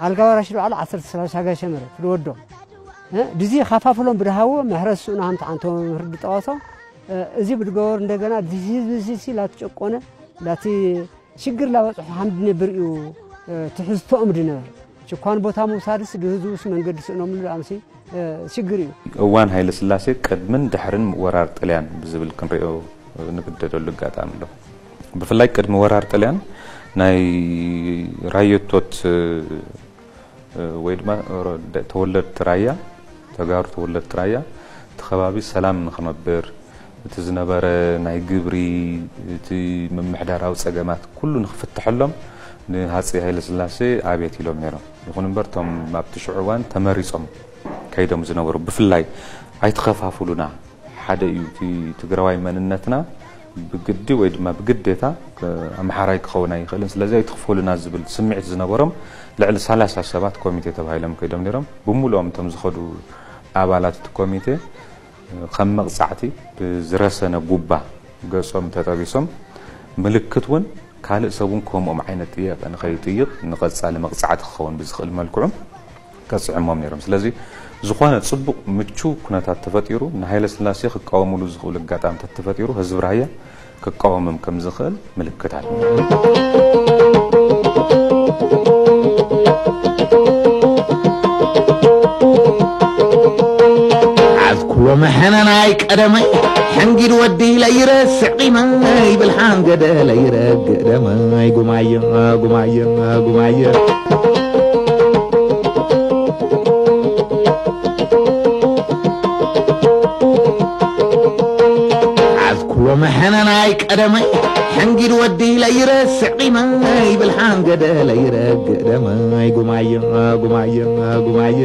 ኣልጋ ወራሽ ድባዕሎ ዓሰርተ ሰላሳ ጋሻ መሬት ድወዶ ድዚ ኻፋፍሎም ብድሃዎ ምሕረት ስኡና ሃምቲ ዓንቶ መምህር ድጠዋሶ እዚ ብድገበሩ እንደገና ድዚ ህዝቢ እዚ ሲ ላትጨቆነ ላቲ ሽግር ላበፅሑ ሃም ድነብር እዩ ትሕዝቶኦም ድነበር ችኳን ቦታ ምውሳድስ ድህዝቡስ መንገዲ ስእኖምሉ ኣምሲ ሽግር እዩ። እዋን ሃይለስላሴ ቅድምን ድሕርን ወራር ጥልያን ብዝብል ክንሪኦ ንግደደሉ ኣጋጣሚ ኣሎ። ብፍላይ ቅድሚ ወራር ጥልያን ናይ ራየቶት ወይ ድማ ተወለድቲ ራያ ተጋሩ ተወለድቲ ራያ እቲ ከባቢ ሰላም ንክነብር እቲ ዝነበረ ናይ ግብሪ እቲ ምምሕዳራዊ ፀገማት ኩሉ ንክፍትሐሎም ንሃፀይ ሃይለስላሴ ኣብየት ኢሎም ነይሮም። ይኹን እምበር እቶም ኣብቲ ሽዑ እዋን ተመሪፆም ከይዶም ዝነበሩ ብፍላይ ኣይትኸፋፍሉና ሓደ እዩ እቲ ትግራዋይ መንነትና ብግዲ ወይ ድማ ብግዴታ ኣምሓራይ ክኸውን ኣይኽእልን ስለዚ ኣይትኽፈሉና ዝብል ስምዒት ዝነበሮም ልዕሊ ሰላሳ ሰባት ኮሚቴ ተባሂሎም ከይዶም ነይሮም። ብምሉኦም እቶም ዝኸዱ ኣባላት እቲ ኮሚቴ ከም መቕፃዕቲ ብዝረሰነ ጉባ ገፆም ተጠቢሶም ምልክት እውን ካልእ ሰብ እውን ከምኦም ዓይነት ጥያቄ ንኸይጥይቕ ንቐፃሊ መቕፃዕቲ ክኸውን ብዝኽእል መልክዑ ቀፅዕሞም ነይሮም። ስለዚ ዝኾነ ፅቡቕ ምቹው ኩነታት ተፈጢሩ ንሃይለስላሴ ክቃወምሉ ዝኽእሉ ኣጋጣሚታት ተፈጢሩ ህዝቢ ራያ ክቃወሞም ከም ዝኽእል ምልክት ኣሎ። ኣዝኩሎ መሐነናይ ቀደመይ ሕንጊድ ወዲ ለይረስዕ ቂመይ ብልሓን ገደ ለይረግእ ደመይ ጉማየ ጉማየ ጉማየ መሐነናይ ቀደመይ ሕንጊድ ወዲ ለይረስዕ ቂመይ ብልሓን ገደ ለይረግእ ደመይ ጉማየ ጉማየ ጉማየ